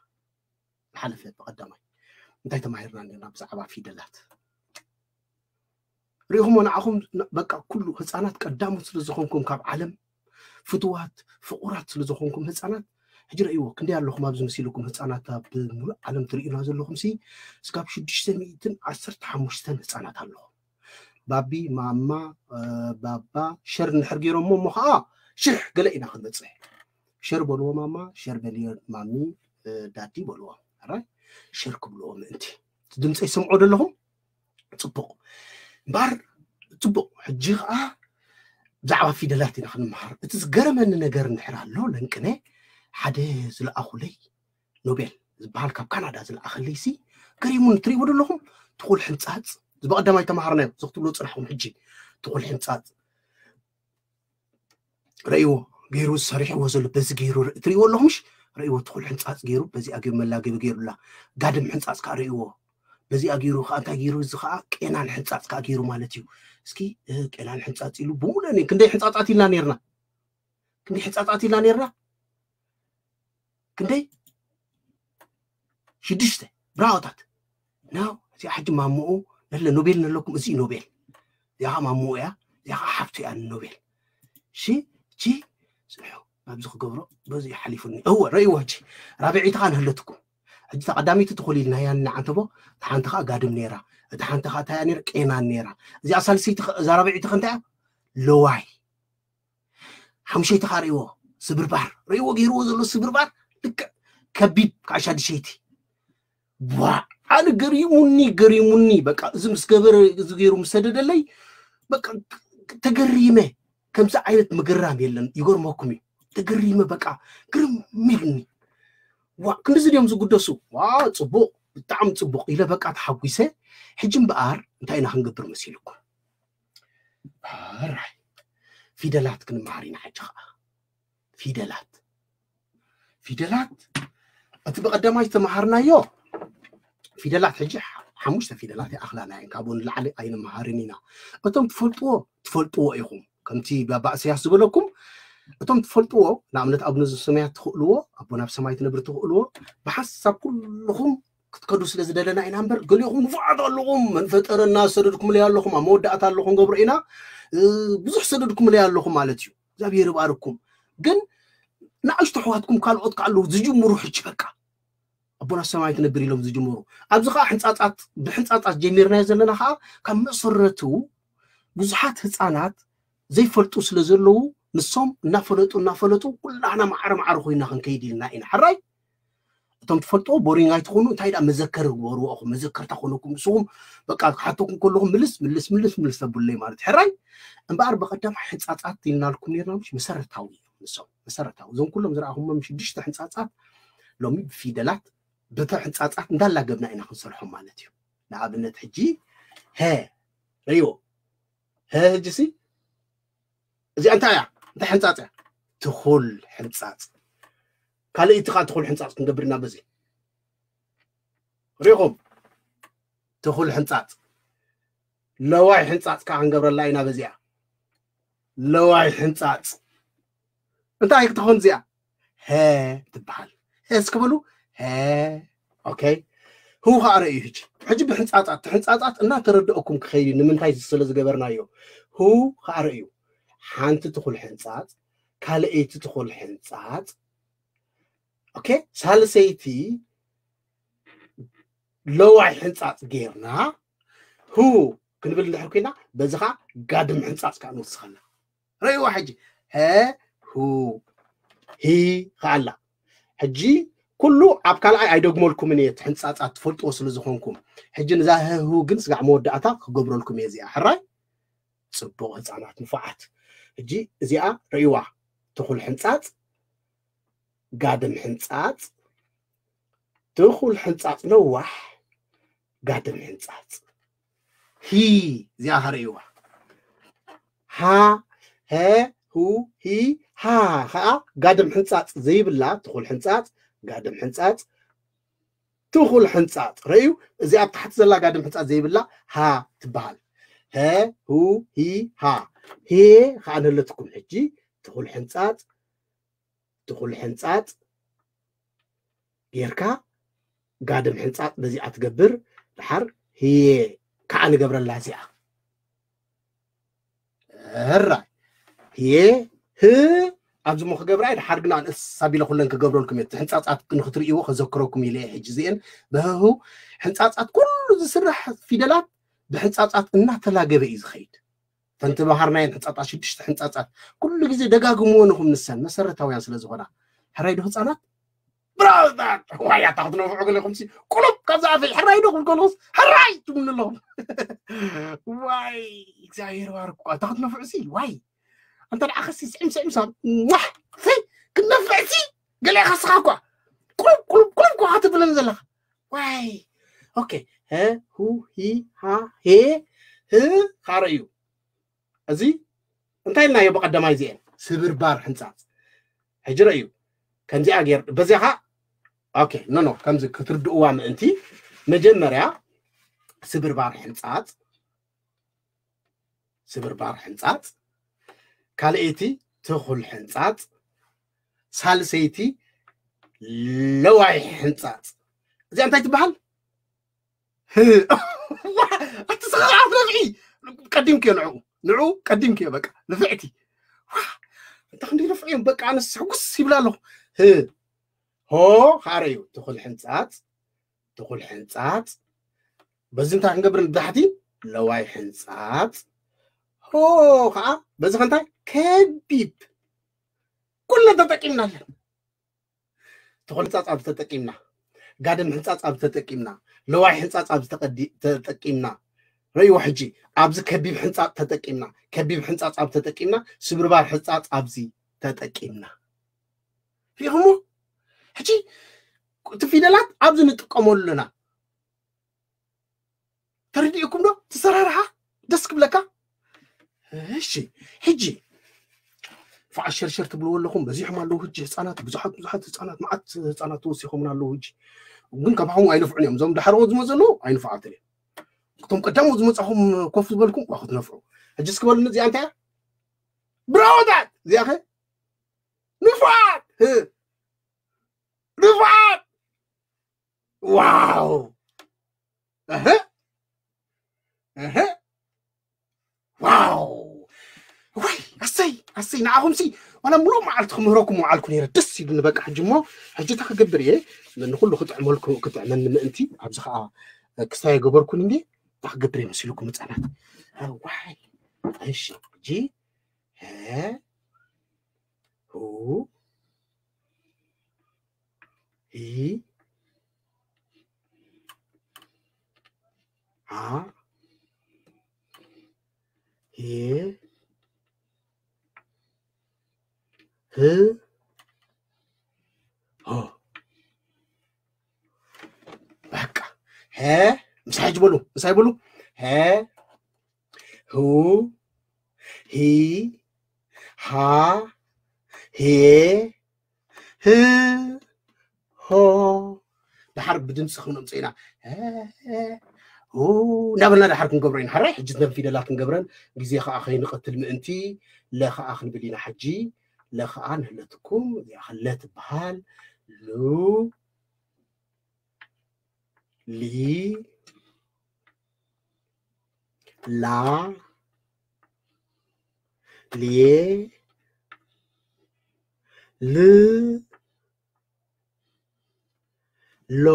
ሓለፈ ብቐዳማይ እንታይ ተማሂርና ነርና ብዛዕባ ፊደላት? ሪኹሞ ንዓኹም፣ በቃ ኩሉ ህፃናት ቀዳሞት ስለ ዝኾንኩም ካብ ዓለም፣ ፍትዋት ፍቑራት ስለ ዝኾንኩም ህፃናት፣ ሕጂ ረእይዎ ክንደይ ኣለኹም ኣብዚ መሲልኩም ህፃናት ኣብ ሙሉእ ዓለም ትርእዩና ዘለኹም ሲ እስካብ ሽዱሽተ ሚእትን ዓሰርተ ሓሙሽተን ህፃናት ኣለኹም። ባቢ ማማ ባባ ሸር እንድሕር ገይሮሞ እሞ ከዓ ሽሕ ገለ ኢና ክንበፅሕ። ሸር በልዎ ማማ፣ ሸር በልዮ ማሚ፣ ዳዲ በልዎ። ራይ ሸር ክብልዎ ምእንቲ ድምፀ ይሰምዖ ዘለኹም ፅቡቕ እምበር ፅቡቕ። ሕጂ ከዓ ብዛዕባ ፊደላት ኢና ክንመሃር። እቲ ዝገረመኒ ነገር እንድሕር ኣሎ ለንቅነ ሓደ ዝለኣኹለይ ኖቤል ዝበሃል ካብ ካናዳ ዝለኣኸለይ ሲ ገሪሙን ትሪእዎ ዘለኹም ትኹል ሕንፃፅ ዝበቐዳማይ ተምሃርናዮ እዚ ክትብሎ ፅናሕኩም ሕጂ ትኹል ሕንፃፅ ረእይዎ ገይሩ ዝሰሪሕዎ ዘሎ በዚ ገይሩ ትሪእዎ ኣለኹምሽ ረእይዎ ትኹል ሕንፃፅ ገይሩ በዚኣ ገይሩ መላገቢ ገይሩላ ጋድም ሕንፃፅ ከዓ ረእይዎ በዚኣ ገይሩ ከዓ እንታይ ገይሩ እዚ ከዓ ቄናን ሕንፃፅ ከዓ ገይሩ ማለት እዩ እስኪ ቄናን ሕንፃፅ ኢሉ ብሙሉእ ክንደይ ሕንፃፃት ኢልና ነርና ክንደይ ሕንፃፃት ኢልና ነርና ክንደይ ሽዱሽተ ብራዎታት ናው እዚኣ ሕጂ ማሞኡ ነለ ኖቤል ነለኩም እዚ ኖቤል እዚኣ ማሞኡ እያ እዚኣ ሓፍቱ እያ ኖቤል ሺ ቺ ፅንሑ ኣብዚ ክገብሮ በዚ ሓሊፉኒ እወ ረእይዎ ሕጂ ራብዒቲ ከዓ ንህለትኩም ሕጂ ተቐዳሚቲ ትኹል ኢልና እያ ንዓንተቦ እቲ ሓንቲ ከዓ ጋድም ነይራ እቲ ሓንቲ ከዓ እንታይ እያ ነይራ ቄናን ነይራ እዚኣ ሳልሰይቲ እዛ ራብዒቲ ከ እንታይ እያ ለዋይ ሓሙሸይቲ ከዓ ርእይዎ ስብርባር ርእይዎ ገይርዎ ዘሎ ስብርባር ልክዕ ከቢብ ከዓ ሻድሸይቲ ዋ ኣነ ገሪሙኒ ገሪሙኒ በቃ እዚ ምስ ገበረ እዚ ገይሩ ምስ ሰደደለይ በቃ ተገሪመ ከምዚ ዓይነት ምግራም የለን ይገርመኩም እዩ ተገሪመ በቃ ግርም ኢሉኒ ዋ ክንድዚ ድዮም ዝጉደሱ ዋ ፅቡቅ ብጣዕሚ ፅቡቅ ኢለ በቃ ተሓጒሰ ሕጂ እምበኣር እንታይ ኢና ክንገብር መሲልኩም ኣራይ ፊደላት ክንመሃር ኢና ሕጂ ከዓ ፊደላት ፊደላት እቲ ብቐዳማይ ዝተምሃርናዮ ፊደላት ሕጂ ሓሙሽተ ፊደላት ይኣኽላና እየን ካብኡ ንላዕሊ ኣይንመሃርን ኢና እቶም ትፈልጥዎ ትፈልጥዎ ኢኹም ከምቲ ባባ እሰያስ ዝበለኩም እቶም ትፈልጥዎ ንኣብነት ኣቡነ ዘሰማያት ትኽእልዎ ኣቦ ናብ ሰማይ ትነብር ትኽእልዎ ብሓንሳብ ኩልኹም ክትከዱ ስለ ዝደለና ኢና እምበር ገሊኹም ንፉዓት ኣለኹም መን ፈጠረና ዝሰደድኩምለይ ኣለኹም ኣብ መወዳእታ ኣለኹም ገብሮ ኢና ብዙሕ ዝሰደድኩምለይ ኣለኹም ማለት እዩ እግዚኣብሔር ይባርኩም ግን ንኣሽቱ ኣሕዋትኩም ካልኦት ከኣለዉ ዝጅምሩ ሕጂ በቃ ኣቦና ሰማይ ትነብር ኢሎም ዝጅምሩ ኣብዚ ከዓ ሕንፃፃት ብሕንፃፃት ጀሚርናዮ ዘለና ከዓ ካብ መሰረቱ ብዙሓት ህፃናት ዘይፈልጡ ስለ ዘለዉ ንሶም እናፈለጡ እናፈለጡ ኩላህና ማዕረ ማዕረ ኮይና ክንከይድ ኢልና ኢና ሕራይ እቶም ትፈልጥዎ ቦሪንግ ኣይትኾኑ እንታይ ዳ መዘከር ግበርዎ ኢኹም መዘከርታ ኮነኩም ንስኹም በቃ ክሓተኩም ከለኹም ምልስ ምልስ ምልስ ምልስ ተብሉለይ ማለት ሕራይ እምበኣር ብቐዳማይ ሕንፃፃት ኢልናልኩም ነርና ምሽ መሰረታዊ እዮም ንሶም መሰረታዊ እዞም ኩሎም ዝረኣኹሞም ሽዱሽተ ሕንፃፃት ሎሚ ብፊደላት ብተ ሕንፃፃት እንዳላገብና ኢና ክንሰርሖም ማለት እዩ ንኣብነት ሕጂ ሀ ርእይዎ ሀ ሕጂ ሲ እዚኣ እንታይ እያ እንታይ ሕንፃፅ እያ ትኹል ሕንፃፅ ካልእ እቲ ከዓ ትኹል ሕንፃፅ ክንገብር ኢና በዚ ሪኹም ትኹል ሕንፃፅ ለዋይ ሕንፃፅ ከዓ ክንገብረላ ኢና በዚኣ ለዋይ ሕንፃፅ እንታይ ክትኾን እዚኣ ሀ ትበሃል ሀ እስክበሉ ሀ ኦኬ ህው ከዓ ረእዩ ሕጂ ሕጂ ብሕንፃፃት ሕንፃፃት እናተረድአኩም ክኸይድ እዩ ንምንታይ ስለ ዝገበርናዮ ህው ከዓ ረእዩ ሓንቲ ትኹል ሕንፃፅ ካልአይቲ ትኹል ሕንፃፅ ኦኬ ሳልሰይቲ ለዋይ ሕንፃፅ ጌርና ህው ክንብል እንድሕር ኮይና በዚ ከዓ ጋድም ሕንፃፅ ከዓ ንወስኸላ ረእይዋ ሕጂ ሀ ሁ ሂ ከኣላ ሕጂ ኩሉ ኣብ ካልኣይ ኣይደግመልኩምን እየ ሕንፃፃት ትፈልጥዎ ስለ ዝኾንኩም ሕጂ ንዛ ህሁ ግን ስጋዕ መወዳእታ ክገብረልኩም እየ እዚኣ ሕራይ ፅቡቕ ህፃናት ንፉዓት ሕጂ እዚኣ ረእይዋ ትኹል ሕንፃፅ ጋድም ሕንፃፅ ትኹል ሕንፃፅ ነዋሕ ጋድም ሕንፃፅ ሂ፣ እዚኣ ኸርእይዋ። ሃ፣ ሀ፣ ሁ፣ ሂ፣ ሃ ኸዓ ጋድም ሕንጻጽ ዘይብላ፣ ትኹል ሕንጻጽ፣ ጋድም ሕንጻጽ፣ ትኹል ሕንጻጽ። ረእዩ፣ እዚኣ ኣብ ታሕቲ ዘላ ጋድም ሕንጻጽ ዘይብላ ሃ ትበሃል። ሀ፣ ሁ፣ ሂ፣ ሃ። ሄ ኸዓ ንህለትኩም ሕጂ፣ ትኹል ሕንጻጽ፣ ትኹል ሕንጻጽ ጌርካ፣ ጋድም ሕንጻጽ በዚኣ ትገብር። ድሓር ህየ ከዓ ንገብረላ እዚኣ። ሕራይ፣ ህየ፣ ህ፣ ኣብዚ ሞ ክገብራ እየ፣ ድሓር ግና ንእስ ኣቢለ ኩለን ክገብረልኩም እየ። እቲ ሕንጻጻት ንክትርእይዎ ከዘክረኩም ኢለ እየ። ሕጂ እዚአን ብህሁ ሕንጻጻት፣ ኩሉ ዝስራሕ ፊደላት ብሕንጻጻት እናተላገበ እዩ ዝኸይድ። ተንተባሃርናየን ሕንጻጻት፣ ሽዱሽተ ሕንጻጻት ኩሉ ግዜ ደጋግምዎ ንኹም፣ ንሰን መሰረታውያን ስለ ዝኾና። ሕራይ ዶ ህጻናት? ብራውታት! ዋይ፣ ኣታ ክትነፍዑ ገለኹም ሲ፣ ቁሉብ ካብዛ ኣፈይ፣ ሕራይ ዶ ክብል ከለኹስ፣ ሕራይ ትብሉኒ ኣለኹም። ዋይ፣ እግዚኣብሔር ባርክ እኳ፣ ኣታ ክትነፍዑ ሲ፣ ዋይ። ኣንተ ደኣ ኸሲ ስዕም ስዕም ሳብ፣ ዋሕ፣ ሲ፣ ክትነፍዕ ሲ፣ ገለ ኢኻ ስኻ እኳ። ቁሉብ፣ ቁሉብ፣ ቁሉብ እኳ ትብለኒ ዘለኻ። ዋይ። ኦኬ። ሀ፣ ሁ፣ ሂ፣ ሃ፣ ሄ፣ ህ፣ ኻረ እዩ። እዚ እንታይ ኢልናዮ ብቐዳማይ? እዚኤን ስብርባር ሕንጻጽ። ሕጂ ረእዩ። ከምዚኣ ጌር-፣ በዚኣ ኸዓ፣ ኦኬ፣ ኖ፣ ኖ፣ ከምዚ ክትርድእዋ ምእንቲ፣ መጀመርያ ስብርባር ሕንጻጽ፣ ስብርባር ሕንጻጽ፣ ካልኣይቲ ትኹል ሕንጻጽ፣ ሳልሰይቲ ለዋይ ሕንጻጽ። እዚኣ እንታይ ትበሃል? ህ-፣ ዋ፣ ኣቲ ስኻ ኣፍረፍዒ። ቀዲምክዮ ንዕኡ። ንዕኡ ቀዲምክዮ በቃ። ንፍዕቲ። ዋ፣ እንታ ክንደይ ንፍዕ እዮም። በቃ ኣነስ ሕጉስ ይብላ ኣለኹ። ህ-፣ ሆ፣ ኻረ እዩ። ትኹል ሕንጻጽ። ትኹል ሕንጻጽ። በዚ እንታይ ክንገብር ንታሕቲ? ለዋይ ሕንጻጽ። ሆ፣ ኸዓ በዚ ኸንታይ? ከቢብ። ኩለን ተጠቂምና ኣለን። ትኹል ሕንጻጽ ኣብዚ ተጠቂምና፣ ጋድም ሕንጻጽ ኣብዚ ተጠቂምና፣ ለዋይ ሕንጻጽ ኣብዚ ተቐዲ-፣ ተጠቂምና። ረእይዎ ሕጂ፣ ኣብዚ ከቢብ ሕንጻጽ ተጠቂምና፣ ከቢብ ሕንጻጽ ኣብዚ ተጠቂምና፣ ስብርባር ሕንጻጽ ኣብዚ ተጠቂምና። ሪኢኹሞ? ሕጂ እቲ ፊደላት ኣብዚ ንጥቀመሉ ኣለና። ተረዲእኩም ዶ? ትሰራርሓ ደስ ክብለካ። እሺ፣ ሕጂ ፋዓ ሸርሸር ትብልዎ ኣለኹም፣ በዚሖም ኣለዉ። ሕጂ ህፃናት፣ ብዙሓት፣ ብዙሓት ህፃናት፣ መዓት ህፃናት ተወሲኾምን ኣለዉ። ሕጂ ግን ካባኹም ኣይነፍዑን እዮም። እዞም ዳሕረዎት ዝመፁ ዘለዉ ኣይንፍዓትን እዮም። እቶም ቀዳሞት ዝመፃኹም ኮፍ ዝበልኩም ዋ ክትነፍዑ። ሕጂ እስኪ በሉኒ፣ እዚኣ እንታይ እያ? ብራወታት! እዚኣ ኸ? ንፉዓት! ህ! ንፉዓት! ዋው! እህ! እህ! ዋው! ዋይ! ኣሰይ! ኣሰይ! ንዓኹምሲ ዋላ ሙሉእ መዓልቲ ክምህረኩም ውዓልኩ ነይረ። ደስ ኢሉኒ በቃ። ሕጂ እሞ፣ ሕጂ እንታይ ክገብር እየ? ንኹሉ ክጥዕመልኩ-፣ ክጥዕመኒ ምእንቲ፣ ኣብዚ ኸዓ ክስታይ ገበርኩን እንዴ? እንታይ ክገብር እየ መሲልኩም ህፃናት? ዋይ! እሺ፣ ሕጂ፣ ሀ፣ ሁ፣ ሂ፣ ሃ፣ ሄ፣ ህ፣ ሆ። በቃ። ሀ፣ ምሳይ ሕጂ በሉ፣ ምሳይ በሉ። ሀ፣ ሁ፣ ሂ፣ ሃ፣ ሄ፣ ህ፣ ሆ። ደሓር ብድምፂ ክነምፅኦ ኢና። ሀ፣ ሁ፣ እናበልና ደሓር ክንገብሮ ኢና። ሓራይ ሕጂ እተን ፊደላት ክንገብረን ግዜ ከዓ ከይንቐትል ምእንቲ ለ ከዓ ክንብል ኢና። ሕጂ ለ ከዓ ንህለትኩም፣ እዚኣ ከ ለ ትበሃል። ሉ፣ ሊ፣ ላ፣ ሌ፣ ል፣ ሎ።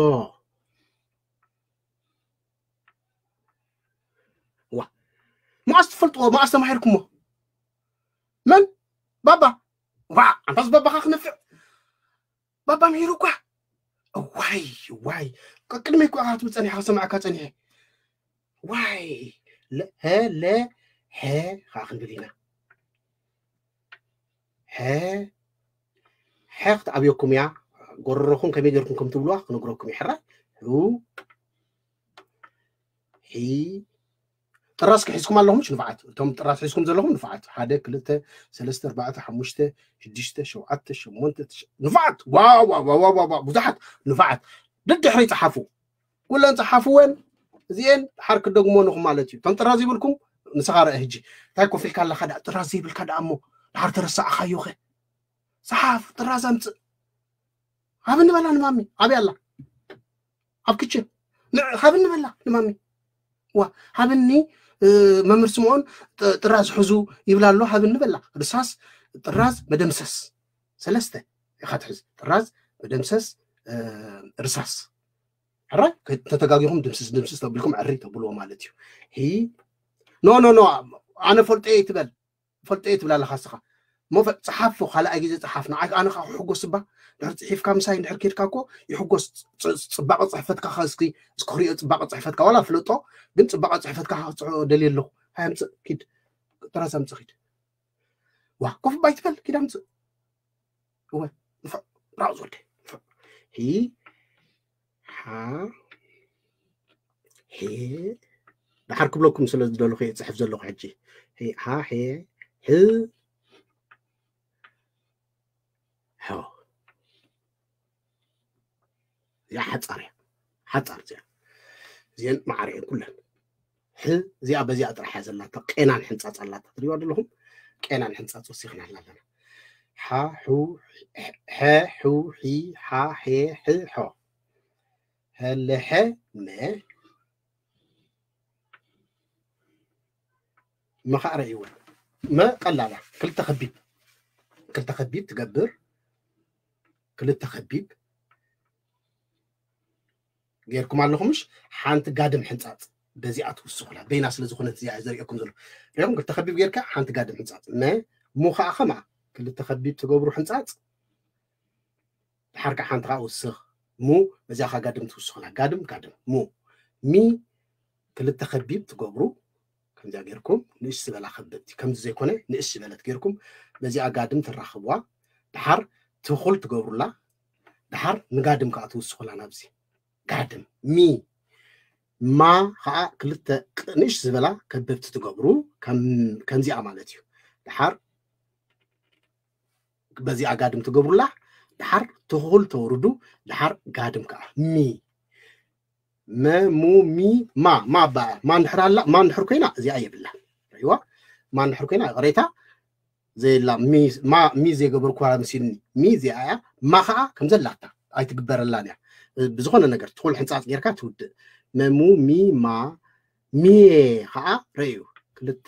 ዋ፣ መዓስ ትፈልጥዎ? መዓስ ተማሂርኩሞ? መን? ባባ። ዋ፣ ኣንታስ ባባኻ ክነፍዕ። ባባ ምሂሩ እኳ። ዋይ፣ ዋይ። ቅድመይ እኮ ኢኻ ክትብል ጸኒሕካ፣ ክሰምዓካ ጸኒሐ። ዋይ። ለ-፣ ሀ፣ ለ፣ ሐ፣ ኸዓ ክንብል ኢና። ሐ፣ ሐ ክትኣብየኩም እያ። ጎረሮኹም ከመይ ጌርኩም ከም ትብልዋ ክነግረኩም እየ። ሕራይ። ሑ፣ ሒ፣ ጥራዝ ክሒዝኩም ኣለኹም ንፋዓት። እቶም ጥራዝ ሒዝኩም ዘለኹም ንፋዓት፣ ሓደ፣ ክልተ፣ ሰለስተ፣ ኣርባዕተ፣ ሓሙሽተ፣ ሽዱሽተ፣ ሸውዓተ፣ ሸሞንተ፣ ትሽዓ፣ ንፋዓት። ዋው ዋው ዋው ዋው ዋው፣ ብዙሓት ንፋዓት። ደድሕሪ ጸሓፉ፣ ኩለን ጸሓፍወን። እዚኤን ድሓር ክደግሞ ንኹም ማለት እዩ። እቶም ጥራዝ ይብልኩም ንስኻ ርአ። ሕጂ እንታይ ኮፍ ኢልካ ኣለኻ? ደኣ ጥራዝ ዘይብልካ ደኣ እሞ ድሓር ተረሳዕካዮኸ? ጸሓፍ፣ ጥራዝ ኣምጽእ። ሃብኒ በላ ንማሚ። ኣበይ ኣላ? ኣብ ክችን። ንዕ-፣ ሃብኒ በላ ንማሚ። ዋ፣ ሃብኒ፣ እ፣ መምህር ስምዖን ጥ-፣ ጥራዝ ሕዙ ይብላ ኣሎ፣ ሃብኒ በላ። ርሳስ፣ ጥራዝ፣ መደምሰስ። ሰለስተ ኢኻ ትሕዝ። ጥራዝ፣ መደምሰስ፣ እ፣ ርሳስ። ሕራይ፣ ከ-፣ ተተጋጊኹም ድምስስ፣ ድምስስ ተቢልኩም ዕሪ ተብልዎ ማለት እዩ። ሂ፣ ኖ፣ ኖ፣ ኖ፣ ኣነ ፈልጦ እየ ትበል። ፈልጦ እየ ትብል ኣለኻ እስኻ። እሞ ፈ-፣ ጸሓፎ፣ ካልኣይ ግዜ ጸሓፍ። ንዓይ ኣነ ኸኣ ክሕጎስ እባ። ድሕሪ ጽሒፍካ ምሳይ እንድሕር ኬድካ እኮ ይሕጎስ። ጽ-፣ ጽ-፣ ጽባቐ ጽሕፈትካ ኸ እስኪ፣ እስኪ ክሪኦ ጽባቐ ጽሕፈትካ። ዋላ ፍለጦ፣ ግን ጽባቐ ጽሕፈትካ ኸ ክጽሕፎ ደልየ ኣለኹ። ሃይ ኣምጽእ፣ ኪድ። ጥራዝ ኣምጽእ፣ ኪድ። ዋ፣ ኮፍ እባ ኣይትበል፣ ኪድ ኣምጽእ። እወ፣ ንፋዕ፣ ራቕ ዝወደ። ንፋዕ። ሂ፣ ሓ፣ ሄ፣ ድሓር ክብለኩም ስለ ዝደለኹ እየ ጽሕፍ ዘለኹ ሕጂ። ሄ፣ ሓ፣ ሄ፣ ህ፣ ሖ። እዚኣ ሓጻር እያ። ሓጻር እዚኣ። እዚአን ማዕረ እየን ኩለን። ሕ፣ እዚኣ በዚኣ ጥራሕ እያ ዘላታ። ቄናን ሕንጻጽ ኣላታ። ትሪእዋ ዘለኹም? ቄናን ሕንጻጽ ወሲኽናላ ኣለና። ሓ፣ ሑ፣ ሐ፣ ሑ፣ ሒ፣ ሓ፣ ሄ፣ ሕ፣ ሖ። ሀለሐ፣ መ፣ መኻዕረ እዩ። መ ቀላላ። ክልተ ከቢብ። ክልተ ከቢብ ትገብር። ክልተ ከቢብ ጌርኩም ኣለኹም፣ ምሽ? ሓንቲ ጋድም ሕንጻጽ በዚኣ ትውስኹላ። በይና ስለ ዝኾነት እዚኣ እየ ዘርእየኩም ዘሎ። ሪኦም፣ ክልተ ከቢብ ጌርካ ሓንቲ ጋድም ሕንጻጽ። መ፣ ሙ ኸኣ ኸምኣ። ክልተ ከቢብ ትገብሩ ሕንጻጽ። ድሓር ከኣ ሓንቲ ኸኣ ውስኽ። ሙ፣ በዚኣ ኸኣ ጋድም ትውስኹላ። ጋድም፣ ጋድም። ሙ። ሚ፣ ክልተ ከቢብ ትገብሩ። ከምዚኣ ጌርኩም ንእሽ ዝበላ ከበብቲ። ከምዚ ዘይኮነ ንእሽ ዝበለት ጌርኩም በዚኣ ጋድም ትራኸብዋ። ድሓር ትኹል ትገብሩላ። ድሓር ንጋድም ከኣ ትውስኹላ ናብዚ። ጋድም። ሚ። ማ ኸኣ ክልተ ቅ-፣ ንእሽ ዝበላ ከበብቲ ትገብሩ። ከም-፣ ከምዚኣ ማለት እዩ። ድሓር በዚኣ ጋድም ትገብሩላ። ድሓር ትኹል ተውርዱ። ድሓር ጋድም ከኣ። ሚ። መ፣ ሙ፣ ሚ፣ ማ። ማ በኣ። ማ እንድሕር ኣላ፣ ማ እንድሕር ኮይና እዚኣ የብላን። ሪእዋ? ማ እንድሕር ኮይና ይቕሬታ። ዘየላ ሚ፣ ማ፣ ሚ ዘይገበርኩዋ መሲልኒ። ሚ እዚኣ እያ። ማ ኸኣ ከም ዘላታ ኣይትግበረላን እያ። ብዝኾነ ነገር ትኹል ሕንጻጽ ጌርካ ትውድእ። መ፣ ሙ፣ ሚ፣ ማ፣ ሚ ኸኣ ረእዩ። ክልተ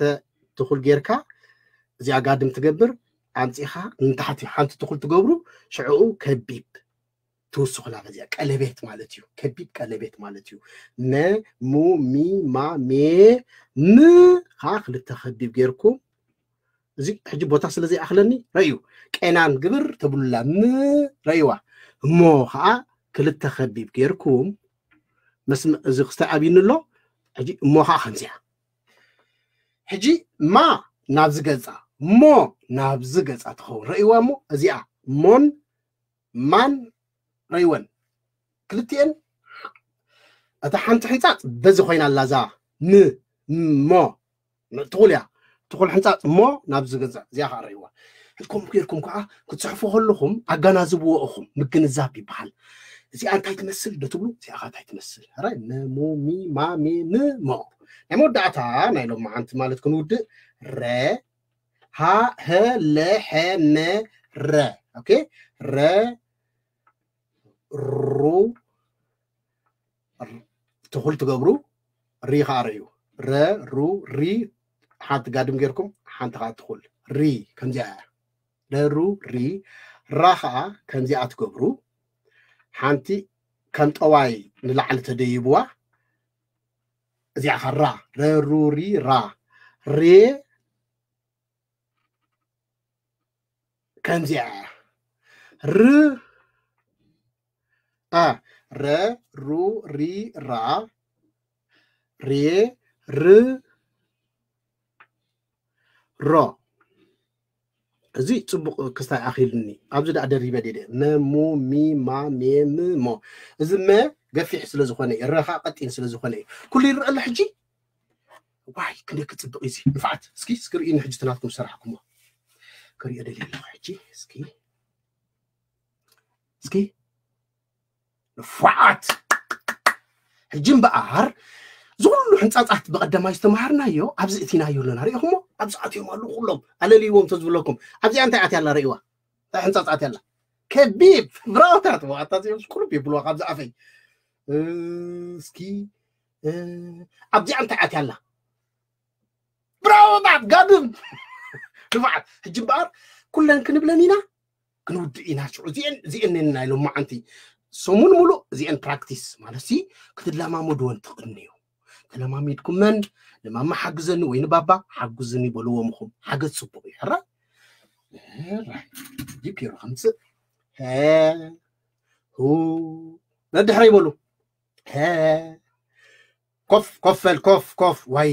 ትኹል ጌርካ እዚኣ ጋድም ትገብር፣ ኣምጺኻ ንታሕቲ ሓንቲ ትኹል ትገብሩ፣ ሽዕኡ ከቢብ ትውስኹላ። በዚኣ ቀለቤት ማለት እዩ። ከቢብ ቀለቤት ማለት እዩ። መ፣ ሙ፣ ሚ፣ ማ፣ ሜ፣ ም ኸኣ ክልተ ከቢብ ጌርኩም፣ እዚ ሕጂ ቦታ ስለ ዘይኣኽለኒ ረእዩ። ቄናን ግብር ተብሉላ። ም ረእይዋ። እሞ ኸኣ ክልተ ከቢብ ጌርኩም፣ መስመ-፣ እዚ ክስታይ ኣብይኒ ኣሎ። ሕጂ እሞ ኸኣ ከምዚኣ። ሕጂ ማ ናብዚ ገጻ፣ ሞ ናብዚ ገጻ ትኸውን። ረእይዋ እሞ እዚኣ ሞን ማን ረእይወን። ክልቲኤን እታ ሓንቲ ሕንጻጽ በዚ ኮይና ኣላ እዛ ም፣ ሞ። ትኹል እያ። ትኹል ሕንጻጽ ሞ ናብዚ ገጻ እዚኣ ኸኣ ረእይዋ። ከምኡ ጌርኩም ከኣ ክትጽሕፉ ከለኹም ኣገናዝብዎ ኢኹም። ምግንዛብ ይበሃል። እዚኣ እንታይ ትመስል ዶ ትብሉ? እዚኣ ኸኣ እንታይ ትመስል? ሕራይ፣ መ፣ ሙ፣ ሚ፣ ማ፣ ሜ፣ ም፣ ሞ። ናይ መወዳእታ ናይ ሎማዓንቲ ማለት ክንውድእ፣ ረ፣ ሃ፣ ሀ፣ ለ፣ ሐ፣ መ፣ ረ። ኦኬ? ረ፣ ሩ፣ ትኹል ትገብሩ፣ ሪ ኸኣ ረእዩ። ረ፣ ሩ፣ ሪ፣ ሓንቲ ጋድም ጌርኩም፣ ሓንቲ ኸኣ ትኹል። ሪ፣ ከምዚኣ እያ። ረ፣ ሩ፣ ሪ፣ ራ ኸኣ ከምዚኣ ትገብሩ። ሓንቲ ከም ጠዋይ ንላዕሊ ተደይብዋ፣ እዚኣ ኸኣ ራ። ረ፣ ሩ፣ ሪ፣ ራ። ሬ፣ ከምዚኣ እያ። ር፣ ኣ፣ ረ፣ ሩ፣ ሪ፣ ራ፣ ሬ፣ ር፣ ሮ። እዚ ጽቡቕ ክስታይ ኣኺልኒ። ኣብዚ ደኣ ደሪበ ድየ? መ፣ ሙ፣ ሚ፣ ማ፣ ሜ፣ ም፣ ሞ። እዚ መ ገፊሕ ስለ ዝኾነ እዩ፣ ረ ኸኣ ቀጢን ስለ ዝኾነ እዩ። ኩሉ ይረአ ኣሎ ሕጂ? ዋይ ክንደይ ክፅብቕ እዩ እዚ ንፋዓት። እስኪ እስኪ ርእዩኒ ሕጂ ትናትኩም ዝሰራሕኩሞ ክሪኦ ደልየ ኣለኹ። ሕጂ እስኪ እስኪ ንፋዓት። ሕጂ እምበኣር ዝኩሉ ሕንፃፃት ብቐዳማይ ዝተምሃርናዮ ኣብዚ እቲናዮ ኣለና። ሪኢኹሞ ኣብዚ ኣትዮም ኣለዉ ኩሎም ኣለልይዎም ተዝብለኩም። ኣብዚኣ እንታይ ኣትያ ኣላ ርእይዋ? እንታይ ሕንፃፃት ኣላ? ከቢብ ብራውታት ዋታ ዚኦም ኩሉ ይብልዋ ካብዚ ኣፈይ። እስኪ ኣብዚኣ እንታይ ኣትያ ኣላ? ብራውታት ጋድም ንፋዓት። ሕጂ እምበኣር ኩለን ክንብለን ኢና ክንውድእ ኢና። ሽዑ እዚአን እዚአን ነና ኢሎም መዓንቲ ሰሙን ሙሉእ እዚአን ፕራክቲስ ማለት ሲ ክትለማመድወን ትቕንዩ። ተለማሚድኩመን ንማማ ሓግዘኒ ወይ ንባባ ሓግዙኒ በልዎም። ኹም ሓገዝ ጽቡቕ እዩ። ሕራ ሕራ ጂፒሮ ከምጽእ ሀ ሁ ነድሕረ ይበሉ። ሀ ኮፍ ኮፈል ኮፍ ኮፍ ዋይ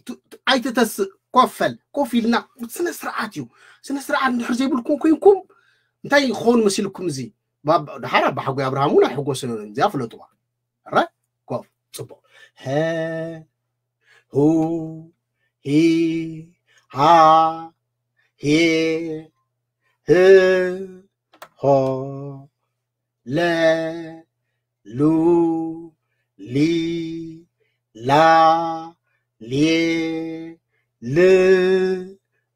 ቱ- ቱ- ኣይትተስእ ኮፈል ኮፍ ኢልና ስነ ስርዓት እዩ። ስነ ስርዓት እንድሕር ዘይብልኩም ኮይንኩም እንታይ ይኸውን መሲልኩም? እዚ ባባ- ድሓር ኣባ ሓጎይ ኣብርሃም እውን ኣይሕጎስን እዮም። እዚኣ ፍለጥዋ። ረ ኮፍ ጽቡቕ። ሀ ሁ ሂ ሃ ሄ ህ ሆ ለ ሉ ሊ ላ ሌ ል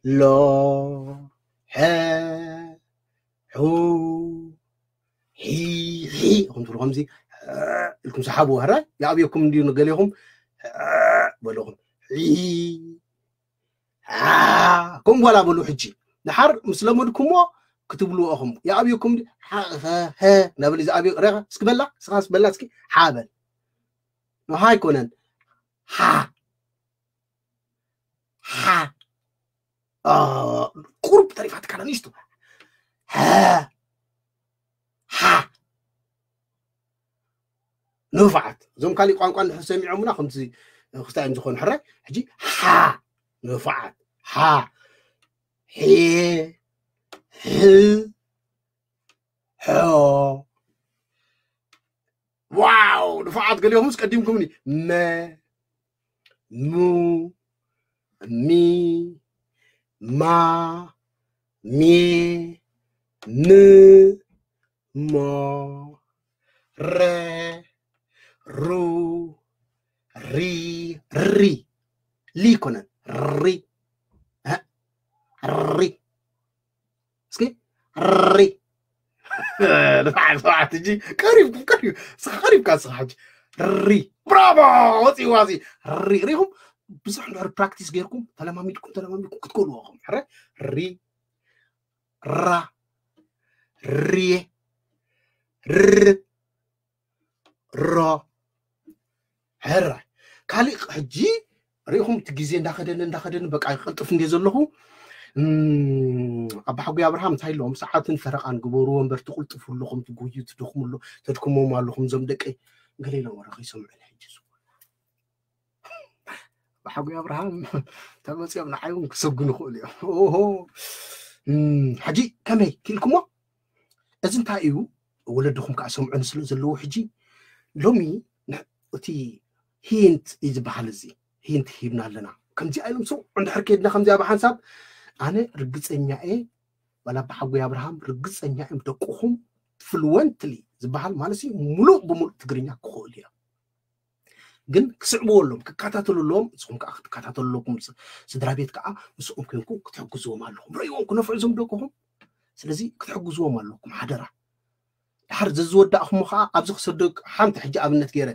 ሎ ሐ ሑ ሒ ሒ። እኹም ትብሉ ከምዚ ሐ ኢልኩም ሰሓቡ። ሐረ ይኣብየኩም እንዲዩ ንገሌኹም ሐ በለኹም ሒ ሐ። ከምኡ ጓላ በሉ። ሕጂ ድሓር ምስ ለመድኩሞ ክትብልዎ ኢኹም። ይኣብየኩም እንዲ ሐ ሐ ሐ እናበለ ዝኣብዮ። ሬኻ እስኪ በላ፣ እስኻ በላ እስኪ ሓ በል። ንሃ ኣይኮነን። ሓ ሓ ቁሩብ ተሪፋትካ ንእሽቶ ሓ ሓ ንፋዓት። እዞም ካሊእ ቋንቋ እንድሕር ሰሚዖምና ከምዚ ክስታይ እዮም ዝኾኑ። ሕራይ ሕጂ ሓ ንፋዓት ሓ ሄ ሕ ሖ ዋው ንፋዓት ገሊኦምስ ቀዲምኩምኒ መ ሙ ሚ ማ ሜ ም ሞ ረ ሩ ሪ ሪ ሊ ይኮነን ሪ እ ሪ እስኪ ሪ ንፋዓት ንፋዓት ሕጂ ቀሪብኩም ቀሪብ ስኻ ቀሪብካ ስኻ ሕጂ ሪ ብራቮ ወፂዋ እዚ ሪ ሪኹም ብዙሕ እንድሕር ፕራክቲስ ጌርኩም ተለማሚድኩም ተለማሚድኩም ክትክእልዎ ኢኹም ሕረ ሪ ራ ሪ ር ሮ ሕራይ ካሊእ ሕጂ ሪኢኹም እቲ ግዜ እንዳኸደኒ እንዳኸደኒ በቃ ይቐልጥፍ እንደ ዘለኹ ኣባ ሓጉይ ኣብርሃም እንታይ ኣለዎም ሰዓትን ፈረቓን ግበርዎ እምበር ትቕልጥፉ ኣለኹም ትጎዩ ትደኽሙ ኣሎ ተድክሞም ኣለኹም እዞም ደቀይ ገለ ኢሎም ወረ ከይሰምዑ ሕጂ ብሓጉ ኣብርሃም ተመፅኦም ንዓይ እውን ክሰጉ ንኽእሉ እዮም ኦሆ ሕጂ ከመይ ክኢልኩሞ እዚ እንታይ እዩ ወለድኹም ከዓ ሰምዑኒ ስለ ዘለዎ ሕጂ ሎሚ እቲ ሂንት እዩ ዝበሃል እዚ ሂንት ሂብና ኣለና ከምዚ ኣይሎም ሰው እንድሕር ከድና ከምዚ ኣብ ሓንሳብ ኣነ ርግፀኛ እየ ዋላ ብሓጎይ ኣብርሃም ርግፀኛ እዮም ደቅኹም ፍሉወንትሊ ዝበሃል ማለት ሙሉእ ብሙሉእ ትግርኛ ክኽእሉ እዮም ግን ክስዕብዎ ኣለዎም ክከታተሉ ኣለዎም ንስኹም ከዓ ክትከታተሉ ኣለኩም ስድራ ቤት ከዓ ምስኦም ኮንኩም ክትሕግዝዎም ኣለኹም ርእይዎም ክነፍዑ ዞም ደቅኹም ስለዚ ክትሕግዝዎም ኣለኩም ሓደራ ድሓር ዘዝወዳእኹሞ ከዓ ኣብዚ ክሰደግ ሓንቲ ሕጂ ኣብነት ገይረ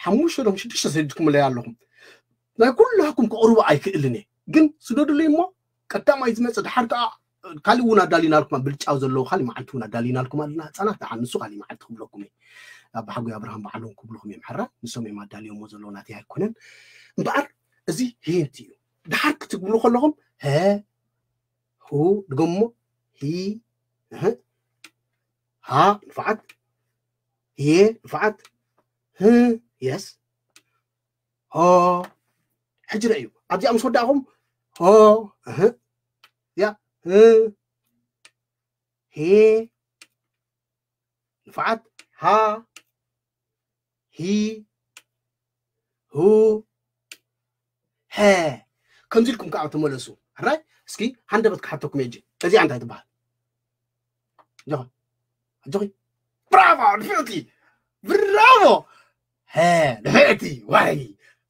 ሓሙሽተ ዶም ሽዱሽተ ሰዲድኩምለይ ኣለኹም ናይ ኩላኩም ክቕርቡ ኣይክእልን እየ ግን ስደዱለይ እሞ ቀዳማይ ዝመፅእ ድሓር ከዓ ካሊእ እውን ኣዳሊናልኩም ብልጫው ዘለዎ ካሊእ መዓልቲ እውን ኣዳሊናልኩም ኣለና ህፃናት ደሓን ንሱ ካሊእ መዓልቲ ክብለኩም እዩ ኣብ ሓጉ ኣብርሃም በዓሎም ክብልኹም እዮም ሕራ ንሶም እዮም ኣዳልዮሞ ዘለዎ ናተይ ኣይኮነን እምበኣር እዚ ሂንት እዩ ድሓር ክትብሉ ከለኹም ሀ ሁ ድገሞ ሂ ሃ ንፋዓት ሄ ንፋዓት ህ የስ ሆ ሕጂ ረእዩ ኣብዚኣ ምስ ወዳእኹም ሆ እህ ያ ህ ሄ ንፋዓት ሃ ሂ ሁ ሀ። ከምዚ ኢልኩም ከዓ ተመለሱ። ሕራይ? እስኪ ሃንደበት ክሓተኩም እየ። እዚኣ እንታይ ትበሃል? ኣጆኺ፣ ኣጆኺ። ብራቮ ንፍዕቲ፣ ብራቮ። ሀ፣ ንፍዕቲ። ዋይ፣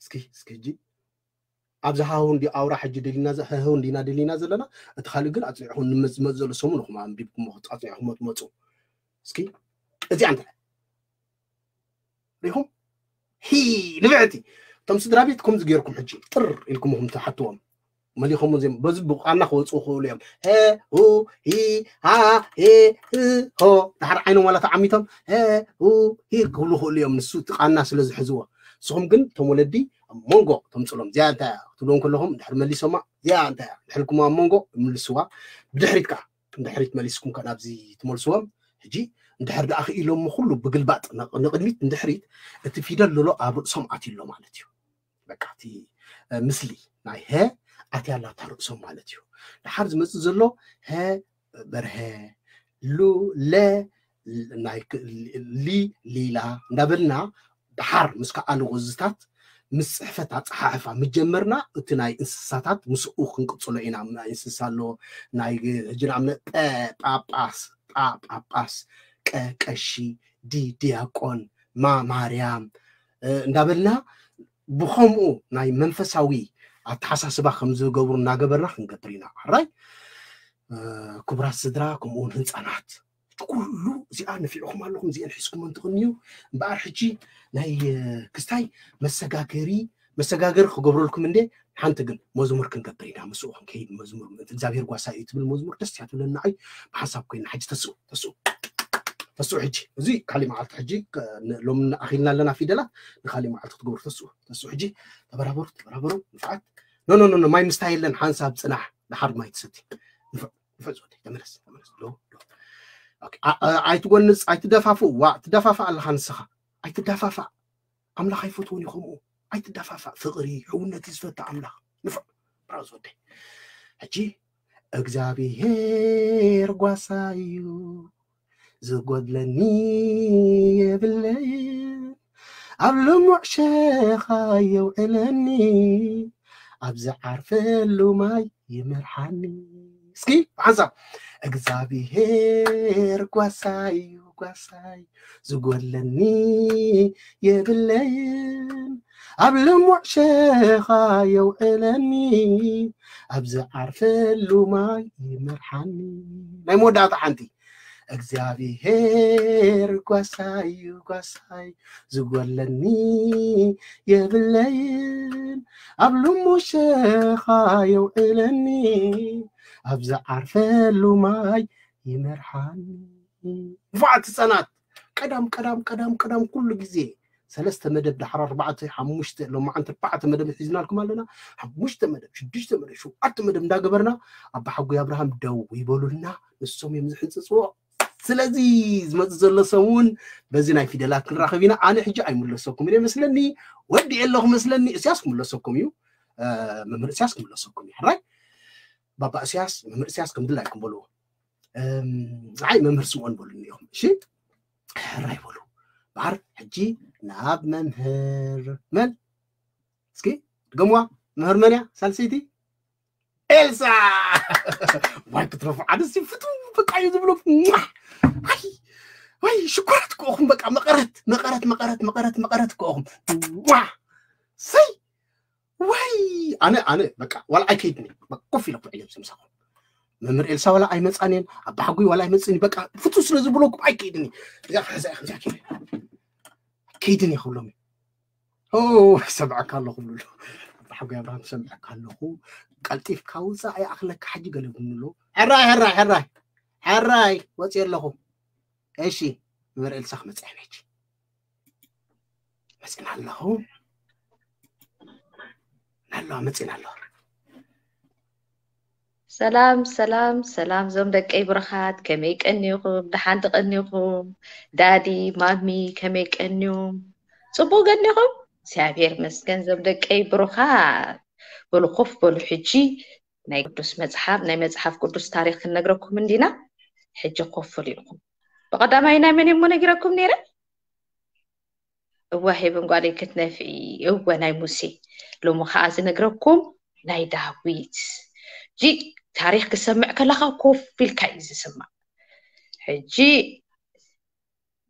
እስኪ፣ እስኪ ሕጂ ኣብዚ ሃሁ እንዲ ኣውራ ሕጂ ደሊና ዘ-፣ ሃሁ እንዲና ደሊና ዘለና፣ እቲ ካልእ ግን ኣጽኒዕኹም ንመጽ-፣ ዝመጽእ ዘሎ ሰሙን ኢኹም ኣንቢብኩሞ ኣጽኒዕኹም ትመጹ። እስኪ እዚኣ እንታይ ሪኹም? ሂ፣ ንፍዕቲ። እቶም ስድራ ቤት ከምዚ ገይርኩም ሕጂ ጥር ኢልኩም ኢኹም ትሓትዎም። መሊኾም እዚኦም በዚ ብቋና ክወፁ ይኽእሉ እዮም። ሀ፣ ሁ፣ ሂ፣ ሃ፣ ሄ፣ ህ፣ ሆ። ድሓር ዓይኖም ዋላ ተዓሚቶም ሀ፣ ሁ፣ ሂ ክብሉ ይኽእሉ እዮም። ንሱ እቲ ቃና ስለ ዝሕዝዎ። ንስኹም ግን እቶም ወለዲ ኣብ መንጎ ተምፅሎም። እዚኣ እንታይ እያ ክትብሎም ከለኹም ድሕሪ መሊሶማ፣ እዚኣ እንታይ እያ? ድሕልኩም ኣብ መንጎ ይምልስዋ። ብድሕሪት ከዓ፣ ንድሕሪት መሊስኩም ከዓ ናብዚ ትመልስዎም። ሕጂ እንድሕር ደኣ ክኢሎሞ ኩሉ ብግልባጥ ንቕ-፣ ንቕድሚት ንድሕሪት፣ እቲ ፊደል ሎሎ ኣብ ርእሶም ኣትዩ ኣሎ ማለት እዩ። በቃ እቲ፣ እ፣ ምስሊ ናይ ሀ ኣትያ ኣላታ ርእሶም ማለት እዩ። ደሓር ዝመጽእ ዘሎ ሀ በርሀ፣ ሉ፣ ለ፣ ል-፣ ናይ ክ-፣ ሊ፣ ሊላ እንዳበልና ደሓር ምስ ከኣሉ ቅዝታት ምስ ጽሕፈት ኣጸሓሕፋ ምስ ጀመርና፣ እቲ ናይ እንስሳታት ምስኡ ክንቅጽሎ ኢና። ናይ እንስሳ ኣሎ፣ ናይ ግ-፣ ሕጂ ንኣብነት ጳ፣ ጳጳስ፣ ጳ፣ ጳጳስ፣ ቀ፣ ቀሺ፣ ዲ፣ ዲያቆን፣ ማ፣ ማርያም፣ እ፣ እንዳበልና ብኸምኡ ናይ መንፈሳዊ ኣተሓሳስባ ከም ዝገብሩ እናገበርና ክንገብር ኢና። ሕራይ? እ፣ ክቡራት ስድራ፣ ከምኡ እውን ህንጻናት። እቲ ኩሉ እዚኣ ነፊዕኹም ኣለኹም፣ እዚአን ሒዝኩም እንትኽንዩ፣ እምበኣር ሕጂ ናይ፣ እ፣ ክስታይ መሰጋገሪ፣ መሰጋገሪ ክገብረልኩም እንዴ፣ ሓንቲ ግን መዝሙር ክንገብር ኢና። ምስኡ ክንከይድ መዝሙር፣ ምእንቲ እግዚኣብሔር ጓሳ እዩ ትብል መዝሙር ደስ እያ ትብለኒ ንዓይ። ብሓንሳብ ኮይና ሕጂ ተስኡ፣ ተስኡ፣ ተስኡ ሕጂ። እዚ ካሊእ መዓልቲ ሕጂ፣ ከ-፣ ን-፣ ሎሚ ኣኺልና ኣለና ፊደላት፣ ንካሊእ መዓልቲ ክትገብሩ ተስኡ፣ ተስኡ ሕጂ። ተበራበሩ፣ ተበራበሩ፣ ንፍዓት። ኖ፣ ኖ፣ ኖ፣ ኖ፣ ማይ ምስታይ የለን፣ ሓንሳብ ጽናሕ፣ ደሓር ማይ ትሰቲ። ንፍዕ፣ ንፍዕ ዝወደይ፣ ተመለስ፣ ተመለስ። ዶ፣ ዶ። ኦኬ፣ ኣ-፣ ኣ-፣ ኣይትጎንጽ፣ ኣይትደፋፍእ፣ ዋ፣ ትደፋፍእ ኣለኻ ንስኻ። ኣይትደፋፋእ። ኣምላኽ ኣይፈትዎን እዩ ከምኡ። ኣይትደፋፋእ። ፍቕሪ፣ ሕውነት እዩ ዝፈትእ ኣምላኽ። ንፍዕ፣ ብራው ዝወደይ። ሕጂ፣ እግዚኣብሔር ጓሳ እዩ፣ ዝጎድለኒ የብለይን፣ ኣብ ልሙዕ ሸኻ የውዕለኒ፣ ኣብ ዝዓርፈሉ ማይ ይመርሓኒ። እስኪ ብሓንሳብ፣ እግዚኣብሔር ጓሳይ እዩ፣ ጓሳይ፣ ዝጎድለኒ የብለይን፣ ኣብ ልሙዕ ሸኻ የውዕለኒ፣ ኣብ ዝዓርፈሉ ማይ ይመርሓኒ። ናይ መወዳእታ ሓንቲ፣ እግዚኣብሔር ጓሳይ እዩ፣ ጓሳይ፣ ዝጎድለኒ የብለይን፣ ኣብ ልሙዕ ሸኻ የውዕለኒ፣ ኣብ ዝዓርፈሉ ማይ ይመርሓኒ። ንፉዓት ህፃናት፣ ቀዳም፣ ቀዳም፣ ቀዳም፣ ቀዳም ኩሉ ግዜ ሰለስተ መደብ፣ ድሓር ኣርባዕተ፣ ሓሙሽተ፣ ሎማዓንቲ ኣርባዕተ መደብ ሒዝናልኩም ኣለና። ሓሙሽተ መደብ፣ ሽዱሽተ መደብ፣ ሸውዓተ መደብ እንዳገበርና ኣባ ሓጎይ ኣብርሃም ደው ይበሉልና፣ ንሶም እዮም ዝሕንፅፅዎ። ስለዚ ዝመፅእ ዘሎ ሰሙን በዚ ናይ ፊደላት ክንራኸብ ኢና። ኣነ ሕጂ ኣይምለሰኩም እየ መስለኒ፣ ወዲ ኣለኹ መስለኒ። እስያስ ክምለሰኩም እዩ፣ እ፣ መምህር እስያስ ክምለሰኩም እዩ። ሕራይ ባባ እስያስ፣ መምህር እስያስ ከም ድላይኩም በልዎ። እም፣ ንዓይ መምህር ስምኦን በሉኒ ኢኹም። እሺ፣ ሕራይ በሉ። በሓር ሕጂ ናብ መምህር መን? እስኪ ድገምዋ። መምህር መን እያ? ሳልሰይቲ? ኤልሳ! ዋይ ክትረፉ፣ ሓደ ሲ ፍቱ በቃ እዩ ዝብሎ። ሟ! ኣይ፣ ወይ ሽኮራት ከኹም በቃ መቐረት፣ መቐረት፣ መቐረት፣ መቐረት፣ መቐረት ከኹም። ሟ! ሰይ! ወይ! ኣነ፣ ኣነ በቃ ዋላ ኣይከይድኒ። በቃ ኮፍ ኢለ ኩዕለ ምስ ምሳኹም። መምህር ኤልሳ ዋላ ኣይመጻን እየን፣ ኣባ ሓጉይ ዋላ ኣይመጽን እዩ። በቃ ፍቱ ስለ ዝብለኩም ኣይከይድኒ። እዚኣ፣ እዚኣ፣ እዚኣ ከይደ። ከይድን እየ ክብሎም እዩ። ኦ፣ ሰምዐካ ኣለኹ ብሉ ኣሎ። ኣባ ሓጎይ ኣብርሃም ሰምዐካ ኣለኹ። ቀልጢፍካ ውጻእ ይኣኽለካ ሕጂ ገለ ብሉ ኣሎ። ሕራይ፣ ሕራይ፣ ሕራይ። ሕራይ፣ ወጺኤ ኣለኹ። እሺ፣ መምህር ኤልሳ ክመጽእ እየ ሕጂ። መጺና ኣለኹ። ኣለዋ፣ መጺና ኣለዋ። ሰላም፣ ሰላም፣ ሰላም፣ እዞም ደቀይ ብሩኻት፣ ከመይ ቀኒኹም? ደሓን ተቐኒኹም? ዳዲ፣ ማሚ፣ ከመይ ቀኒኹም? ጽቡቕ ገኒኹም? እግዚኣብሔር ይመስገን፣ እዞም ደቀይ ብሩኻት። በሉ፣ ኮፍ በሉ። ሕጂ ናይ ቅዱስ መጽሓፍ፣ ናይ መጽሓፍ ቅዱስ ታሪኽ ክንነግረኩም እንዲና። ሕጂ ኮፍ በሉ ኢልኩም። ብቐዳማይ ናይ መን እየ እሞ ነጊረኩም ነይረ? እወ ሄብን ጓለይ ክትነፍዒ። እወ ናይ ሙሴ። ሎሚ ከዓ ዝነግረኩም ናይ ዳዊት። እጂ ታሪክ ክሰምዕ ከለካ ኮፍ ኢልካ እዩ ዝስማዕ። ሕጂ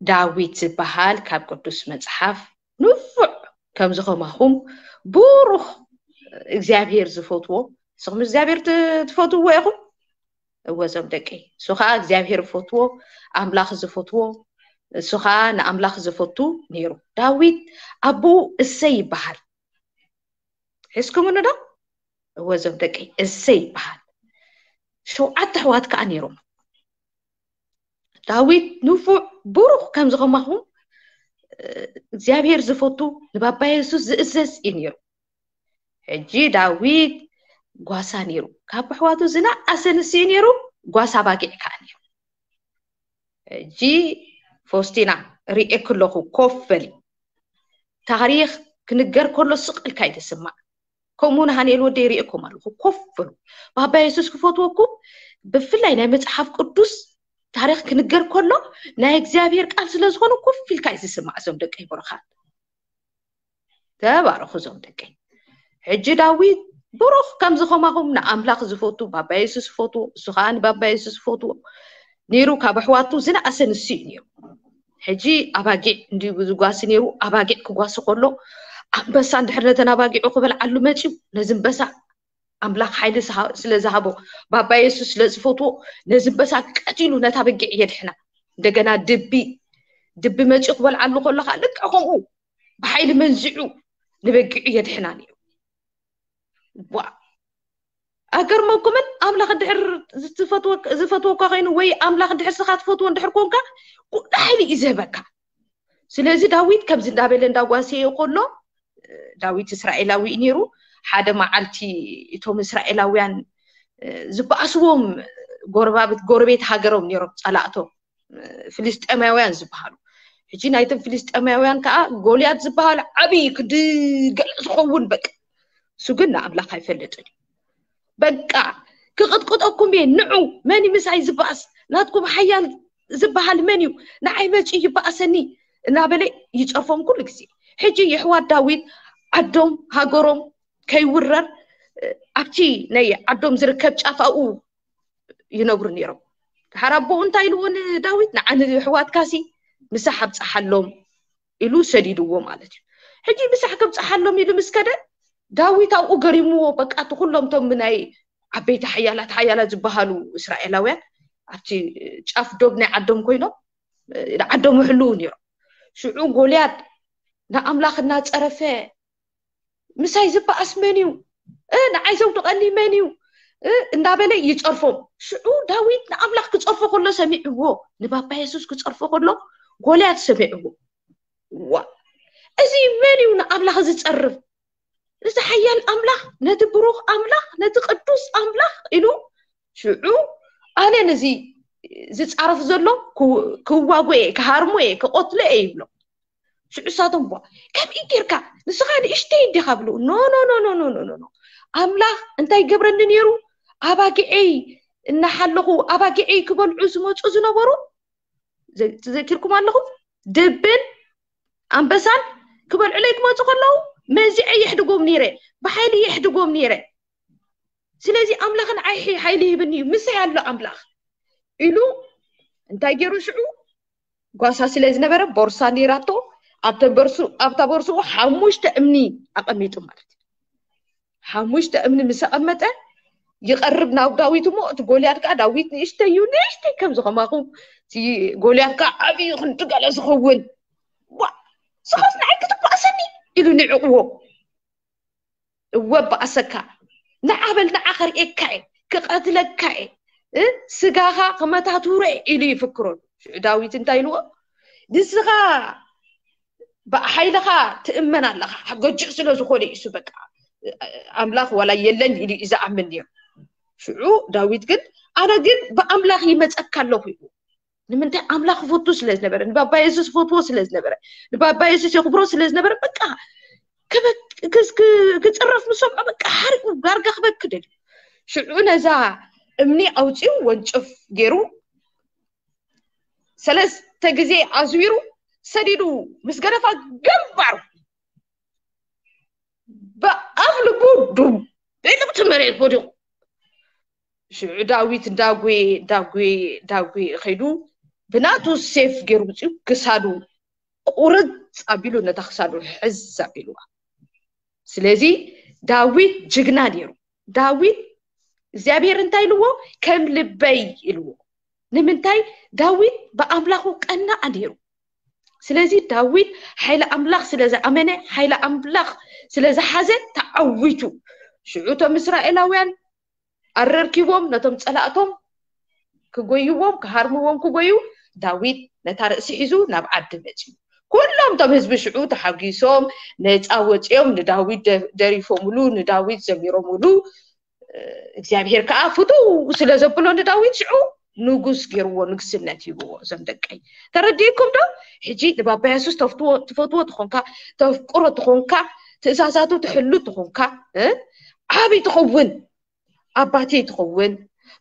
ዳዊት ዝበሃል ካብ ቅዱስ መፅሓፍ ንፉዕ ከምዚ ከማኹም ብሩኽ እግዚኣብሔር ዝፈትዎ። ንስኹም እግዚኣብሔር ት- ትፈትውዎ ኢኹም? እወ እዞም ደቂ እሱ ከዓ እግዚኣብሔር ዝፈትዎ፣ ኣምላኽ ዝፈትዎ፣ እሱ ከዓ ንኣምላኽ ዝፈቱ ነይሩ። ዳዊት ኣቦኡ እሰይ ይበሃል። ሒዝኩምኒ ዶ? እወ እዞም ደቂ እሰይ ይበሃል። ሸውዓተ ኣሕዋት ከዓ ነይሮም። ዳዊት ንፉዕ ብሩኽ ከምዚ ከማኹም እግዚኣብሔር ዝፈቱ፣ ንባባ የሱስ ዝእዘዝ እዩ ነይሩ። ሕጂ ዳዊት ጓሳ ነይሩ። ካብ ኣሕዋቱ ዝነኣሰ ንሱ እዩ ነይሩ። ጓሳ ባጊዕ ከዓ ነይሩ። ሕጂ ፎስቲና፣ ርእየኪ ኣለኹ፣ ኮፍ በሊ። ታሪኽ ክንገር ከሎ ስቕ ኢልካ እዩ ትስማዕ። ከምኡ ንሃንኤል ወደይ ርእየኩም ኣለኹ፣ ኮፍ በሉ። ባባ የሱስ ክፈትወኩም፣ ብፍላይ ናይ መጽሓፍ ቅዱስ ታሪኽ ክንገር ከሎ ናይ እግዚኣብሔር ቃል ስለ ዝኾነ ኮፍ ኢልካ እዩ ዝስማዕ። እዞም ደቀይ ብሩኻት፣ ተባረኹ እዞም ደቀይ። ሕጂ ዳዊት ብሩኽ ከምዚ ከማኹም ንኣምላኽ ዝፈቱ፣ ባባ የሱስ ዝፈትዎ፣ እሱ ከዓ ንባባ የሱስ ዝፈትዎ ነይሩ። ካብ ኣሕዋቱ ዝነኣሰ ንሱ እዩ ነይሩ። ሕጂ ኣባጊዕ እንዲዩ ዝጓሲ ነይሩ። ኣባጊዕ ክጓሲ ከሎ ኣንበሳ እንድሕር ነተን ኣባጊዑ ክበልዓሉ መፅዩ፣ ነዚ ኣንበሳ ኣምላኽ ሓይሊ ስለ ዝሃቦ፣ ባባ የሱስ ስለ ዝፈትዎ፣ ነዚ ኣንበሳ ቀቲሉ ነታ በጊዕ የድሕና። እንደገና ድቢ ድቢ መፂኡ ክበልዓሉ ከሎ ከዓ ልክዕ ከምኡ ብሓይሊ መንዚዑ ንበጊዑ የድሕና ነይሩ። ዋ፣ ኣገርመኩምን ኣምላኽ እንድሕር ዝፈትወካ ኮይኑ ወይ ኣምላኽ እንድሕር ስኻ ትፈትዎ እንድሕር ኮንካ ኩሉ ሓይሊ እዩ ዝህበካ። ስለዚ ዳዊት ከምዚ እንዳበለ እንዳጓሰየ ከሎ፣ ዳዊት እስራኤላዊ እዩ ነይሩ። ሓደ መዓልቲ እቶም እስራኤላውያን ዝበኣስዎም ጎረባብት ጎረቤት ሃገሮም ነይሮም፣ ጸላእቶም ፍልስጤማውያን ዝበሃሉ። ሕጂ ናይቶም ፍልስጤማውያን ከዓ ጎልያድ ዝበሃል ዓብዪ ክዲ ገለ ዝኸውን በቃ። እሱ ግን ንኣምላኽ ኣይፈልጥን እዩ። በቃ ክቕጥቅጠኩም እየ፣ ንዑ፣ መን እዩ ምሳይ ዝበኣስ? ናትኩም ሓያል ዝበሃል መን እዩ? ንዓይ መፂኡ ይበኣሰኒ እናበለ ይፀርፎም ኩሉ ግዜ። ሕጂ የሕዋት ዳዊት ዓዶም ሃገሮም ከይውረር ኣብቲ ናይ ዓዶም ዝርከብ ጫፍ ኣብኡ ይነብሩ ነይሮም። ድሓር ኣቦኡ እንታይ ኢልዎ ንዳዊት? ንዓኒ ኣሕዋትካሲ ምሳሕ ኣብፀሓሎም ኢሉ ሰዲድዎ ማለት እዩ። ሕጂ ምሳሕ ከብፀሓሎም ኢሉ ምስ ከደ ዳዊት ኣብኡ ገሪምዎ፣ በቃ እቲ ኩሎም እቶም ናይ ዓበይቲ ሓያላት ሓያላት ዝበሃሉ እስራኤላውያን ኣብቲ ጫፍ ዶብ ናይ ዓዶም ኮይኖም ዓዶም ይሕልዉ ነይሮም። ሽዑ ጎልያድ ንኣምላኽ እናፀረፈ ምሳይ ዝበኣስ መን እዩ? ንዓይ ዘውድቐኒ መን እዩ? እንዳበለ ይፀርፎም። ሽዑ ዳዊት ንኣምላኽ ክፀርፎ ከሎ ሰሚዕዎ፣ ንባባ የሱስ ክፀርፎ ከሎ ጎልያድ ሰሚዕዎ። ዋ፣ እዚ መን እዩ ንኣምላኽ ዝፀርፍ? እዚ ሓያል ኣምላኽ፣ ነቲ ብሩኽ ኣምላኽ፣ ነቲ ቅዱስ ኣምላኽ ኢሉ ሽዑ ኣነ ነዚ ዝፃረፍ ዘሎ ክዋጎ እየ፣ ክሃርሞ እየ፣ ክቐትሎ እየ ይብሎ። ሽዑ ሳቶም ቧ፣ ከምኡ ጌርካ ንስኻ ንእሽተይ እንዲኻ ብሉ። ኖ ኖ ኖ ኖ ኖ ኖ ኖ ኖ። ኣምላኽ እንታይ ገብረኒ ነይሩ? ኣባጊዐይ እናሓለኹ ኣባጊዐይ ክበልዑ ዝመፁ ዝነበሩ ዘ- ተዘኪርኩም ኣለኹም? ድብን ኣንበሳን ክበልዑለይ ክመፁ ከለዉ መንዚዐ የሕድጎም ነይረ፣ ብሓይሊ የሕድጎም ነይረ። ስለዚ ኣምላኽ ንዓይ ሓይ- ሓይሊ ሂብኒ እዩ፣ ምሳይ ኣሎ ኣምላኽ ኢሉ እንታይ ገይሩ ሽዑ ጓሳ ስለ ዝነበረ ቦርሳ ነይራቶ፣ ኣብተን በርሱ ኣብታ ቦርስኡ ሓሙሽተ እምኒ ኣቐሚጡ ማለት እዩ። ሓሙሽተ እምኒ ምስ ኣቐመጠ ይቐርብ ናብ ዳዊት እሞ እቲ ጎልያድ ከዓ ዳዊት ንእሽተይ እዩ፣ ንእሽተይ ከምዚ ከማኹም እቲ ጎልያድ ከዓ ዓብዩ ክንዲ ገለ ዝኸውን ዋ ስኻስ ንዓይ ክትባእሰኒ ኢሉ ንዕቕዎ። እወ በኣሰካ፣ ንዓ በል ንዓ ከርእየካ እየ፣ ክቐትለካ እየ፣ እ፣ ስጋኻ ክመታትሮ እየ ኢሉ ይፍክረሉ። ሽዑ ዳዊት እንታይ ኢልዎ? ንስኻ ብሓይልኻ ትእመን ኣለኻ፣ ገጅእ ስለ ዝኾነ እዩ እሱ በቃ ኣምላኽ ዋላ የለን ኢሉ እዩ ዝኣምን ነይሩ። ሽዑ ዳዊት ግን ኣነ ግን ብኣምላኽ ይመፀካ ኣለኹ ኢሉ። ንምንታይ? ኣምላኽ ይፈቱ ስለ ዝነበረ፣ ንባባ የሱስ ይፈትዎ ስለ ዝነበረ፣ ንባባ የሱስ የኽብሮ ስለ ዝነበረ በቃ ክበክ- ክስ- ክ- ክፅረፍ ምስ ሰምዖ በቃ ሓሪቁ ዳርጋ ክበክ ደልዩ። ሽዑ ነዛ እምኒ ኣውፂኡ ወንጭፍ ገይሩ ሰለስተ ግዜ ኣዝዊሩ ሰዲዱ ምስ ገደፋ ግንባሩ ብኣፍ ልቡ ዱብ ኢሉ ኣብቲ መሬት ወዲቑ። ሽዑ ዳዊት እንዳጉየ እንዳጉየ እንዳጉየ ከይዱ ብናቱ ሴፍ ገይሩ ውፅኡ ክሳዱ ቁርፅ ኣቢሉ ነታ ክሳዱ ሕዝ ኣቢልዋ። ስለዚ ዳዊት ጅግና ነይሩ። ዳዊት እግዚኣብሔር እንታይ ኢልዎ? ከም ልበይ ኢልዎ። ንምንታይ? ዳዊት ብኣምላኹ ቀናኣ ነይሩ። ስለዚ ዳዊት ሓይሊ ኣምላኽ ስለ ዝኣመነ፣ ሓይሊ ኣምላኽ ስለ ዝሓዘ ተዓዊቱ። ሽዑ እቶም እስራኤላውያን ኣረርኪቦም ነቶም ጸላእቶም ክጎይዎም ክሃርምዎም ክጎዩ ዳዊት ነታ ርእሲ ሒዙ ናብ ዓዲ መጺኡ። ኩሎም እቶም ህዝቢ ሽዑ ተሓጒሶም ነጻ ወጺኦም ንዳዊት ደ- ደሪፎምሉ ንዳዊት ዘሚሮምሉ። እግዚኣብሔር ከዓ ፍትው ስለ ዘብሎ ንዳዊት ሽዑ ንጉስ ገይርዎ ንግስነት ሂብዎ። እዞም ደቀይ ተረዲእኩም ዶ? ሕጂ ንባባ የሱስ ተፍትዎ ትፈትዎ ትኾንካ ተፍቅሮ ትኾንካ ትእዛዛቱ ትሕሉ ትኾንካ እ? ዓብይ ትኸውን ኣባቴ ትኸውን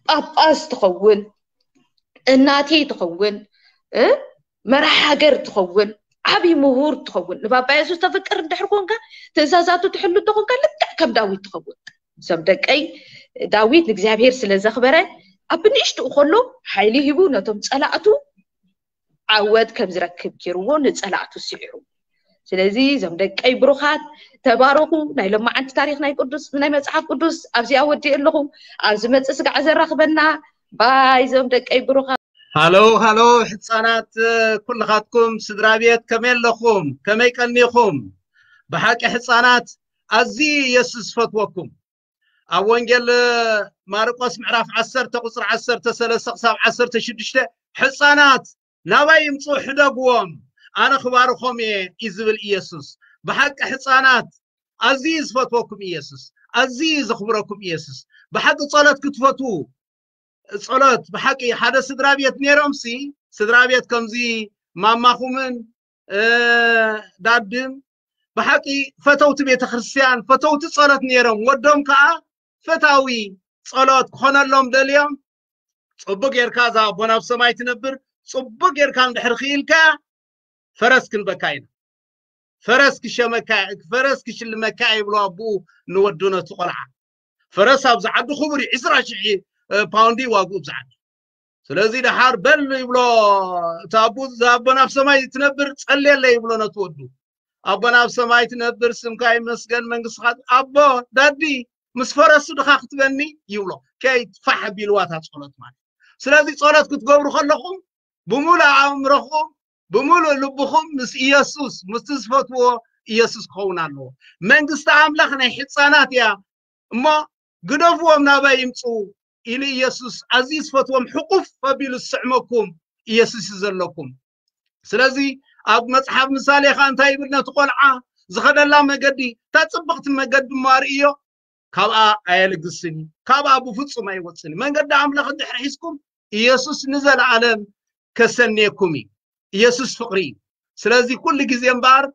ጳጳስ ትኸውን እናቴ ትኸውን እ? መራሕ ሃገር ትኸውን ዓብይ ምሁር ትኸውን ንባባ የሱስ ተፍቅር እንድሕር ኮንካ ትእዛዛቱ ትሕሉ ተኾንካ ልክዕ ከም ዳዊት ትኸውን። እዞም ደቀይ ዳዊት ንእግዚኣብሔር ስለ ዘኽበረ ኣብ ንእሽትኡ ከሎ ሓይሊ ሂቡ ነቶም ጸላእቱ ዓወት ከም ዝረክብ ገይርዎ ንጸላእቱ ስዒሩ። ስለዚ እዞም ደቀይ ብሩኻት ተባረኹ። ናይ ሎማዓንቲ ታሪኽ ናይ ቅዱስ ናይ መጽሓፍ ቅዱስ ኣብዚኣ ወዲእ ኣለኹ። ኣብ ዝመጽእ ስጋዕ ዘራኽበና ባይ እዞም ደቀይ ብሩኻት። ሃሎ ሃሎ ሕፃናት ኩልኻትኩም ስድራ ቤት ከመይ ኣለኹም? ከመይ ቀኒኹም? ብሓቂ ሕፃናት ኣዝዩ ኢየሱስ ዝፈትወኩም። ኣብ ወንጌል ማርቆስ ምዕራፍ ዓሰርተ ቁፅሪ ዓሰርተ ሰለስተ ክሳብ ዓሰርተ ሽዱሽተ ሕፃናት ናባይ ይምፁ ሕደግዎም ኣነ ክባርኾም እየ እዩ ዝብል ኢየሱስ። ብሓቂ ሕፃናት ኣዝዩ ዝፈትወኩም ኢየሱስ፣ ኣዝዩ ዘኽብረኩም ኢየሱስ። ብሓቂ ጸሎት ክትፈትዉ ጸሎት ብሓቂ ሓደ ስድራ ቤት ነይሮምሲ ስድራ ቤት ከምዚ ማማኹምን ዳድን ብሓቂ ፈተውቲ ቤተክርስትያን ፈተውቲ ጸሎት ነይሮም። ወዶም ከዓ ፈታዊ ጸሎት ክኾነሎም ደልዮም። ጽቡቅ ጌርካ እዛ ኣቦና ኣብ ሰማይ ትነብር ጽቡቅ ጌርካ እንድሕር ክኢልካ ፈረስ ክንበካ ኢና። ፈረስ ክሸመካ ፈረስ ክሽልመካ ይብሎ ኣቦኡ ንወዱ ነቲ ቆልዓ። ፈረስ ኣብዚ ዓዲ ክቡር እዩ ዕስራ ሽሕ ፓውንድ እዩ ዋግኡ ኣብዚ ዓዲ። ስለዚ ደሓር በል ይብሎ እቲ ኣቦ እዛ ኣቦና ኣብ ሰማይ ትነብር ጸልየለይ ይብሎ ነቲ ወዱ። ኣቦና ኣብ ሰማይ ትነብር ስምካ ይመስገን መንግስትኻ ኣቦ ዳዲ ምስ ፈረሱ ድኻ ክትበኒ ይብሎ። ከይትፋሕ ቢልዋ እታ ጸሎት ማለት። ስለዚ ጸሎት ክትገብሩ ከለኹም ብምሉእ ኣእምሮኹም ብምሉእ ልብኹም ምስ ኢየሱስ ምስቲ ዝፈትዎ ኢየሱስ ክኸውን ኣለዎ። መንግስቲ ኣምላኽ ናይ ሕፃናት እያ እሞ ግደፍዎም ናባይ ይምፁ ኢሉ ኢየሱስ ኣዝዩ ዝፈትዎም ሕቁፍ ኣቢሉ ዝስዕመኩም ኢየሱስ እዩ ዘለኩም። ስለዚ ኣብ መፅሓፍ ምሳሌ ከዓ እንታይ ይብል ነቲ ቆልዓ ዝኸደላ መገዲ እታ ፅብቕቲ መገዲ እሞ ኣርእዮ ካብኣ ኣየልግስን እዩ ካብኣ ብፍፁም ኣይወፅን እዩ መንገዲ ኣምላኽ እንድሕር ሒዝኩም ኢየሱስ ንዘለኣለም ከሰንየኩም እዩ ኢየሱስ ፍቕሪ እዩ ስለዚ ኩሉ ግዜ እምበኣር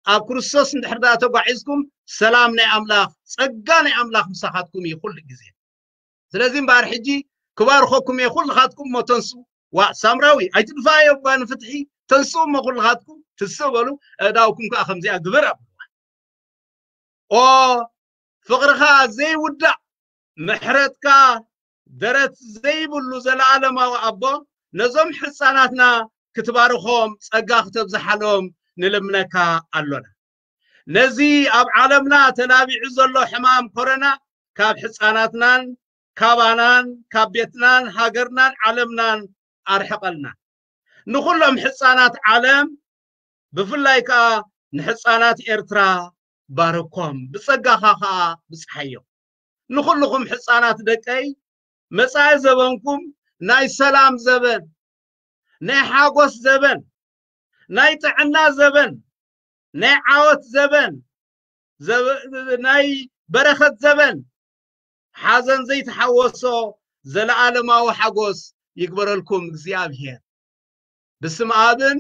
ኣብ ክርስቶስ እንድሕር ዳ ተጓዒዝኩም ሰላም ናይ ኣምላኽ ጸጋ ናይ ኣምላኽ ምሳኻትኩም እዩ ኩሉ ግዜ ስለዚ እምበኣር ሕጂ ክባርኸኩም እየ ኩልኻትኩም እሞ ተንሱ ዋ ሳምራዊ ኣይትድፋዮ እባ ንፍትሒ ተንሱ እሞ ኩልኻትኩም ትስእ በሉ እዳውኩም ከዓ ከምዚኣ ግበር ኣብልዋ ኦ ፍቕርኻ ዘይውዳእ ምሕረትካ ደረት ዘይብሉ ዘለኣለማዊ ኣቦ ነዞም ሕፃናትና ክትባርኾም ጸጋ ክተብዝሓሎም ንልምነካ ኣሎና። ነዚ ኣብ ዓለምና ተላቢዑ ዘሎ ሕማም ኮረና ካብ ሕፃናትናን ካባናን ካብ ቤትናን ሃገርናን ዓለምናን ኣርሕቐልና። ንኹሎም ሕፃናት ዓለም ብፍላይ ከኣ ንሕፃናት ኤርትራ ባርኮም ብጸጋኻ ከኣ ብጽሓዮም ንኹልኹም ሕፃናት ደቀይ መጻኢ ዘበንኩም ናይ ሰላም ዘበን ናይ ሓጎስ ዘበን ናይ ጥዕና ዘበን ናይ ዓወት ዘበን ናይ በረኸት ዘበን ሓዘን ዘይተሓወሶ ዘለኣለማዊ ሓጎስ ይግበረልኩም እግዚኣብሔር ብስም ኣብን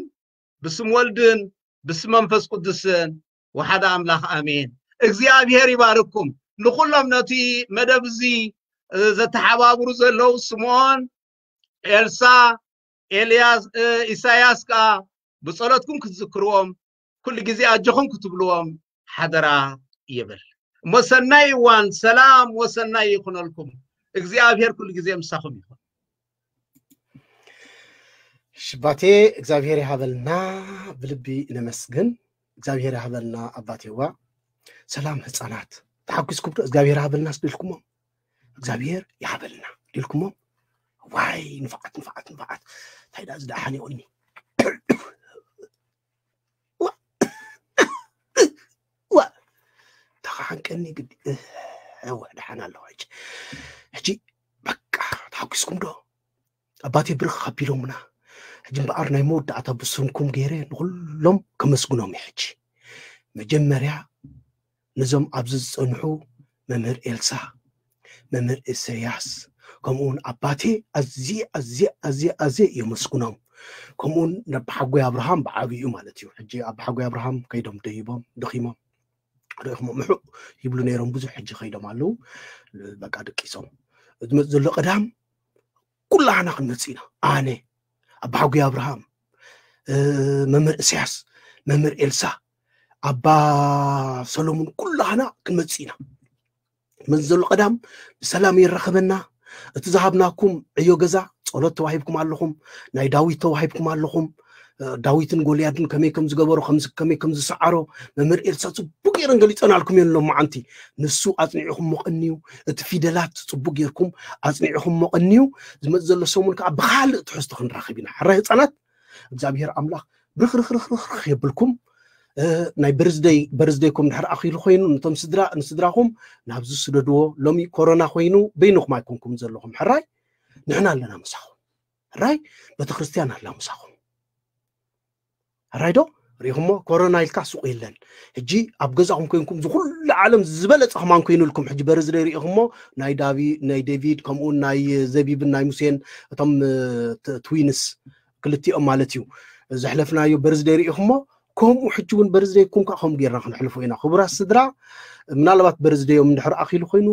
ብስም ወልድን ብስም መንፈስ ቅዱስን ወሓደ ኣምላኽ ኣሜን እግዚኣብሔር ይባርኩም ንኩሎም ነቲ መደብ እዚ ዘተሓባብሩ ዘለዉ ስምዖን ኤልሳ ኤልያስ ኢሳያስ ከዓ ብጸሎትኩም ክትዝክርዎም፣ ኩሉ ግዜ ኣጆኹም ክትብልዎም ሓደራ ይብል። እሞ ሰናይ እዋን፣ ሰላም ወሰናይ ይኹነልኩም። እግዚኣብሔር ኩሉ ግዜ ምሳኹም ይኹን። ሽባቴ እግዚኣብሔር ይሃበልና፣ ብልቢ ነመስግን። እግዚኣብሔር ይሃበልና ኣባቴዋ። ሰላም ህፃናት፣ ተሓጒስኩም ዶ እግዚኣብሔር ይሃበልና ስደልኩሞም? እግዚኣብሔር ይሃበልና ድልኩሞም? ዋይ ንፋዓት ንፋዓት ንፋዓት፣ እንታይ ደኣ ዝደሓን ይቑኒ። ዋ ተኻሓንቀኒ ግዲ። እወ ደሓን ኣለኹ። ሕጂ ሕጂ በቃ ተሓጒስኩም ዶ? ኣባቴ ብርኽ ኣቢሎምና። ሕጂ እምበኣር ናይ መወዳእታ ብስምኩም ገይረ ንኹሎም ከመስግኖም እየ። ሕጂ መጀመርያ ነዞም ኣብዚ ዝጸንሑ መምህር ኤልሳ፣ መምህር ኢሰያስ፣ ከምኡውን ኣባቴ ኣዝየ ኣዝየ ኣዝየ ኣዝየ የመስግኖም። ከምኡውን ነባሓጎይ ኣብርሃም ብዓብዩ ማለት እዩ። ሕጂ ኣባሓጎይ ኣብርሃም ከይዶም ደይቦም ደኺሞም ርኢኹሞ ምሑ ይብሉ ነይሮም። ብዙሕ ሕጂ ከይዶም ኣለዉ። በቃ ደቂሶም ዝመፅ ዘሎ ቀዳም ኩላህና ክንመፅእ ኢና። ኣነ ኣባሓጎይ ኣብርሃም፣ መምህር እስያስ፣ መምህር ኤልሳ፣ ኣባ ሰሎሙን ኩላህና ክንመፅእ ኢና። መን ዘሎ ቀዳም ብሰላም የራኸበና። እቲ ዝሃብናኩም ዕዮ ገዛ ጸሎት ተዋሂብኩም ኣለኹም። ናይ ዳዊት ተዋሂብኩም ኣለኹም። ዳዊትን ጎልያድን ከመይ ከም ዝገበሩ ከመይ ከም ዝሰዓሮ መምህር ኤልሳ ጽቡቅ ገይረን ገሊጸናልኩም እየን ሎማዓንቲ። ንሱ ኣጽኒዕኹም መቐንዩ፣ እቲ ፊደላት ጽቡቅ ጌርኩም ኣጽኒዕኹም መቐንዩ። ዝመጽእ ዘሎ ሰሙን ከዓ ብኻልእ ትሕዝቶ ክንራኸብ ኢና። ሕራይ ህፃናት እግዚኣብሔር ኣምላኽ ብርኽርኽርኽርኽ የብልኩም። ናይ በርዝደይ በርዝደይኩም ድሕር ኣኺሉ ኮይኑ ነቶም ስድራ ንስድራኹም ናብዚ ስደድዎ። ሎሚ ኮሮና ኮይኑ በይንኹም ኣይኮንኩም ዘለኹም። ሕራይ ንሕና ኣለና ምሳኹም። ሕራይ ቤተክርስትያን ኣላ ምሳኹም። ሕራይ ዶ ሪኢኹሞ? ኮሮና ኢልካ ሱቕ የለን። ሕጂ ኣብ ገዛኹም ኮይንኩም ዝኩሉ ዓለም ዝበለጸ ከማን ኮይኑልኩም። ሕጂ በርዝደይ ሪኢኹሞ? ናይ ዳቪ ናይ ዴቪድ ከምኡ ናይ ዘቢብን ናይ ሙሴን እቶም ትዊንስ ክልቲኦም ማለት እዩ። ዘሕለፍናዮ በርዝደይ ሪኢኹሞ? ከምኡ ሕጂ እውን በርዝደይኩም ከዓ ከምኡ ጌርና ክንሕልፎ ኢና። ክቡራት ስድራ፣ ምናልባት በርዝደዮም እንድሕር ኣኺሉ ኮይኑ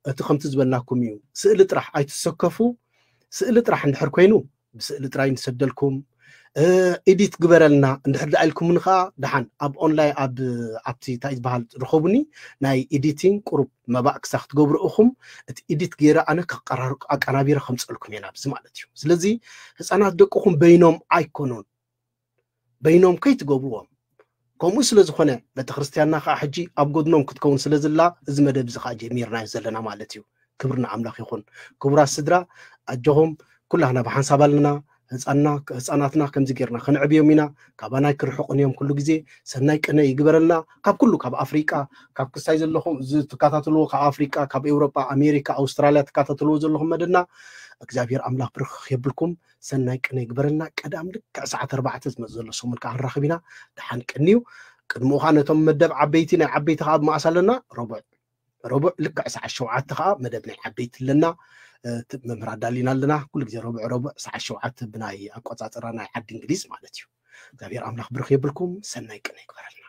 እቲ ከምቲ ዝበልናኩም እዩ። ስእሊ ጥራሕ ኣይትሰከፉ። ስእሊ ጥራሕ እንድሕር ኮይኑ ብስእሊ ጥራይ ንሰደልኩም። ኤዲት ግበረልና እንድሕር ደኣ ኢልኩምኒ ከዓ ደሓን ኣብ ኦንላይን ኣብ ኣብቲ እንታይ ዝበሃል ርኸቡኒ። ናይ ኤዲቲንግ ቁሩብ መባእ ክሳ ክትገብሩ ኢኹም። እቲ ኤዲት ገይረ ኣነ ኣቀናቢረ ከምፀልኩም እየ ናብዚ ማለት እዩ። ስለዚ ህፃናት ደቅኹም በይኖም ኣይኮኑን። በይኖም ከይትገብርዎም። ከምኡ ስለ ዝኾነ ቤተክርስትያንና ከዓ ሕጂ ኣብ ጎድኖም ክትከውን ስለ ዝላ እዚ መደብ እዚ ከዓ ጀሚርናዮ ዘለና ማለት እዩ። ክብሪ ንኣምላኽ ይኹን። ክቡራት ስድራ ኣጆኹም ኩላህና ብሓንሳብ ኣለና። ህፃናትና ከምዚ ጌርና ከነዕብዮም ኢና። ካባናይ ክርሕቑን እዮም ኩሉ ግዜ። ሰናይ ቅነ ይግበረልና። ካብ ኩሉ ካብ ኣፍሪቃ ካብ ክሳይ ዘለኹም እዚ ትከታተልዎ ካብ ኣፍሪቃ ካብ ኤውሮጳ ኣሜሪካ ኣውስትራልያ ትከታተልዎ ዘለኹም መደና እግዚኣብሔር ኣምላኽ ብርክኽ የብልኩም። ሰናይ ቅነ ይግበረልና። ቀዳም ልክዕ ሰዓት ኣርባዕተ ዝመፅ ዘሎ ሰሙን ከዓ ክንራኽብ ኢና። ደሓን ቅንዩ። ቅድሚኡ ከዓ ነቶም መደብ ዓበይቲ ናይ ዓበይቲ ከዓ ብመኣስ ኣለና ረቡዕ ረቡዕ ልክዕ ሰዓት ሸውዓተ ከዓ መደብ ናይ ዓበይቲ ኣለና። መምህር ኣዳሊና ኣለና ኩሉ ግዜ ረቡዕ ረቡዕ ሰዓት ሸውዓተ ብናይ ኣቆፃፅራ ናይ ዓዲ እንግሊዝ ማለት እዩ። እግዚኣብሔር ኣምላኽ ብርኽ የብልኩም። ሰናይ ቅነ ይግበረልና።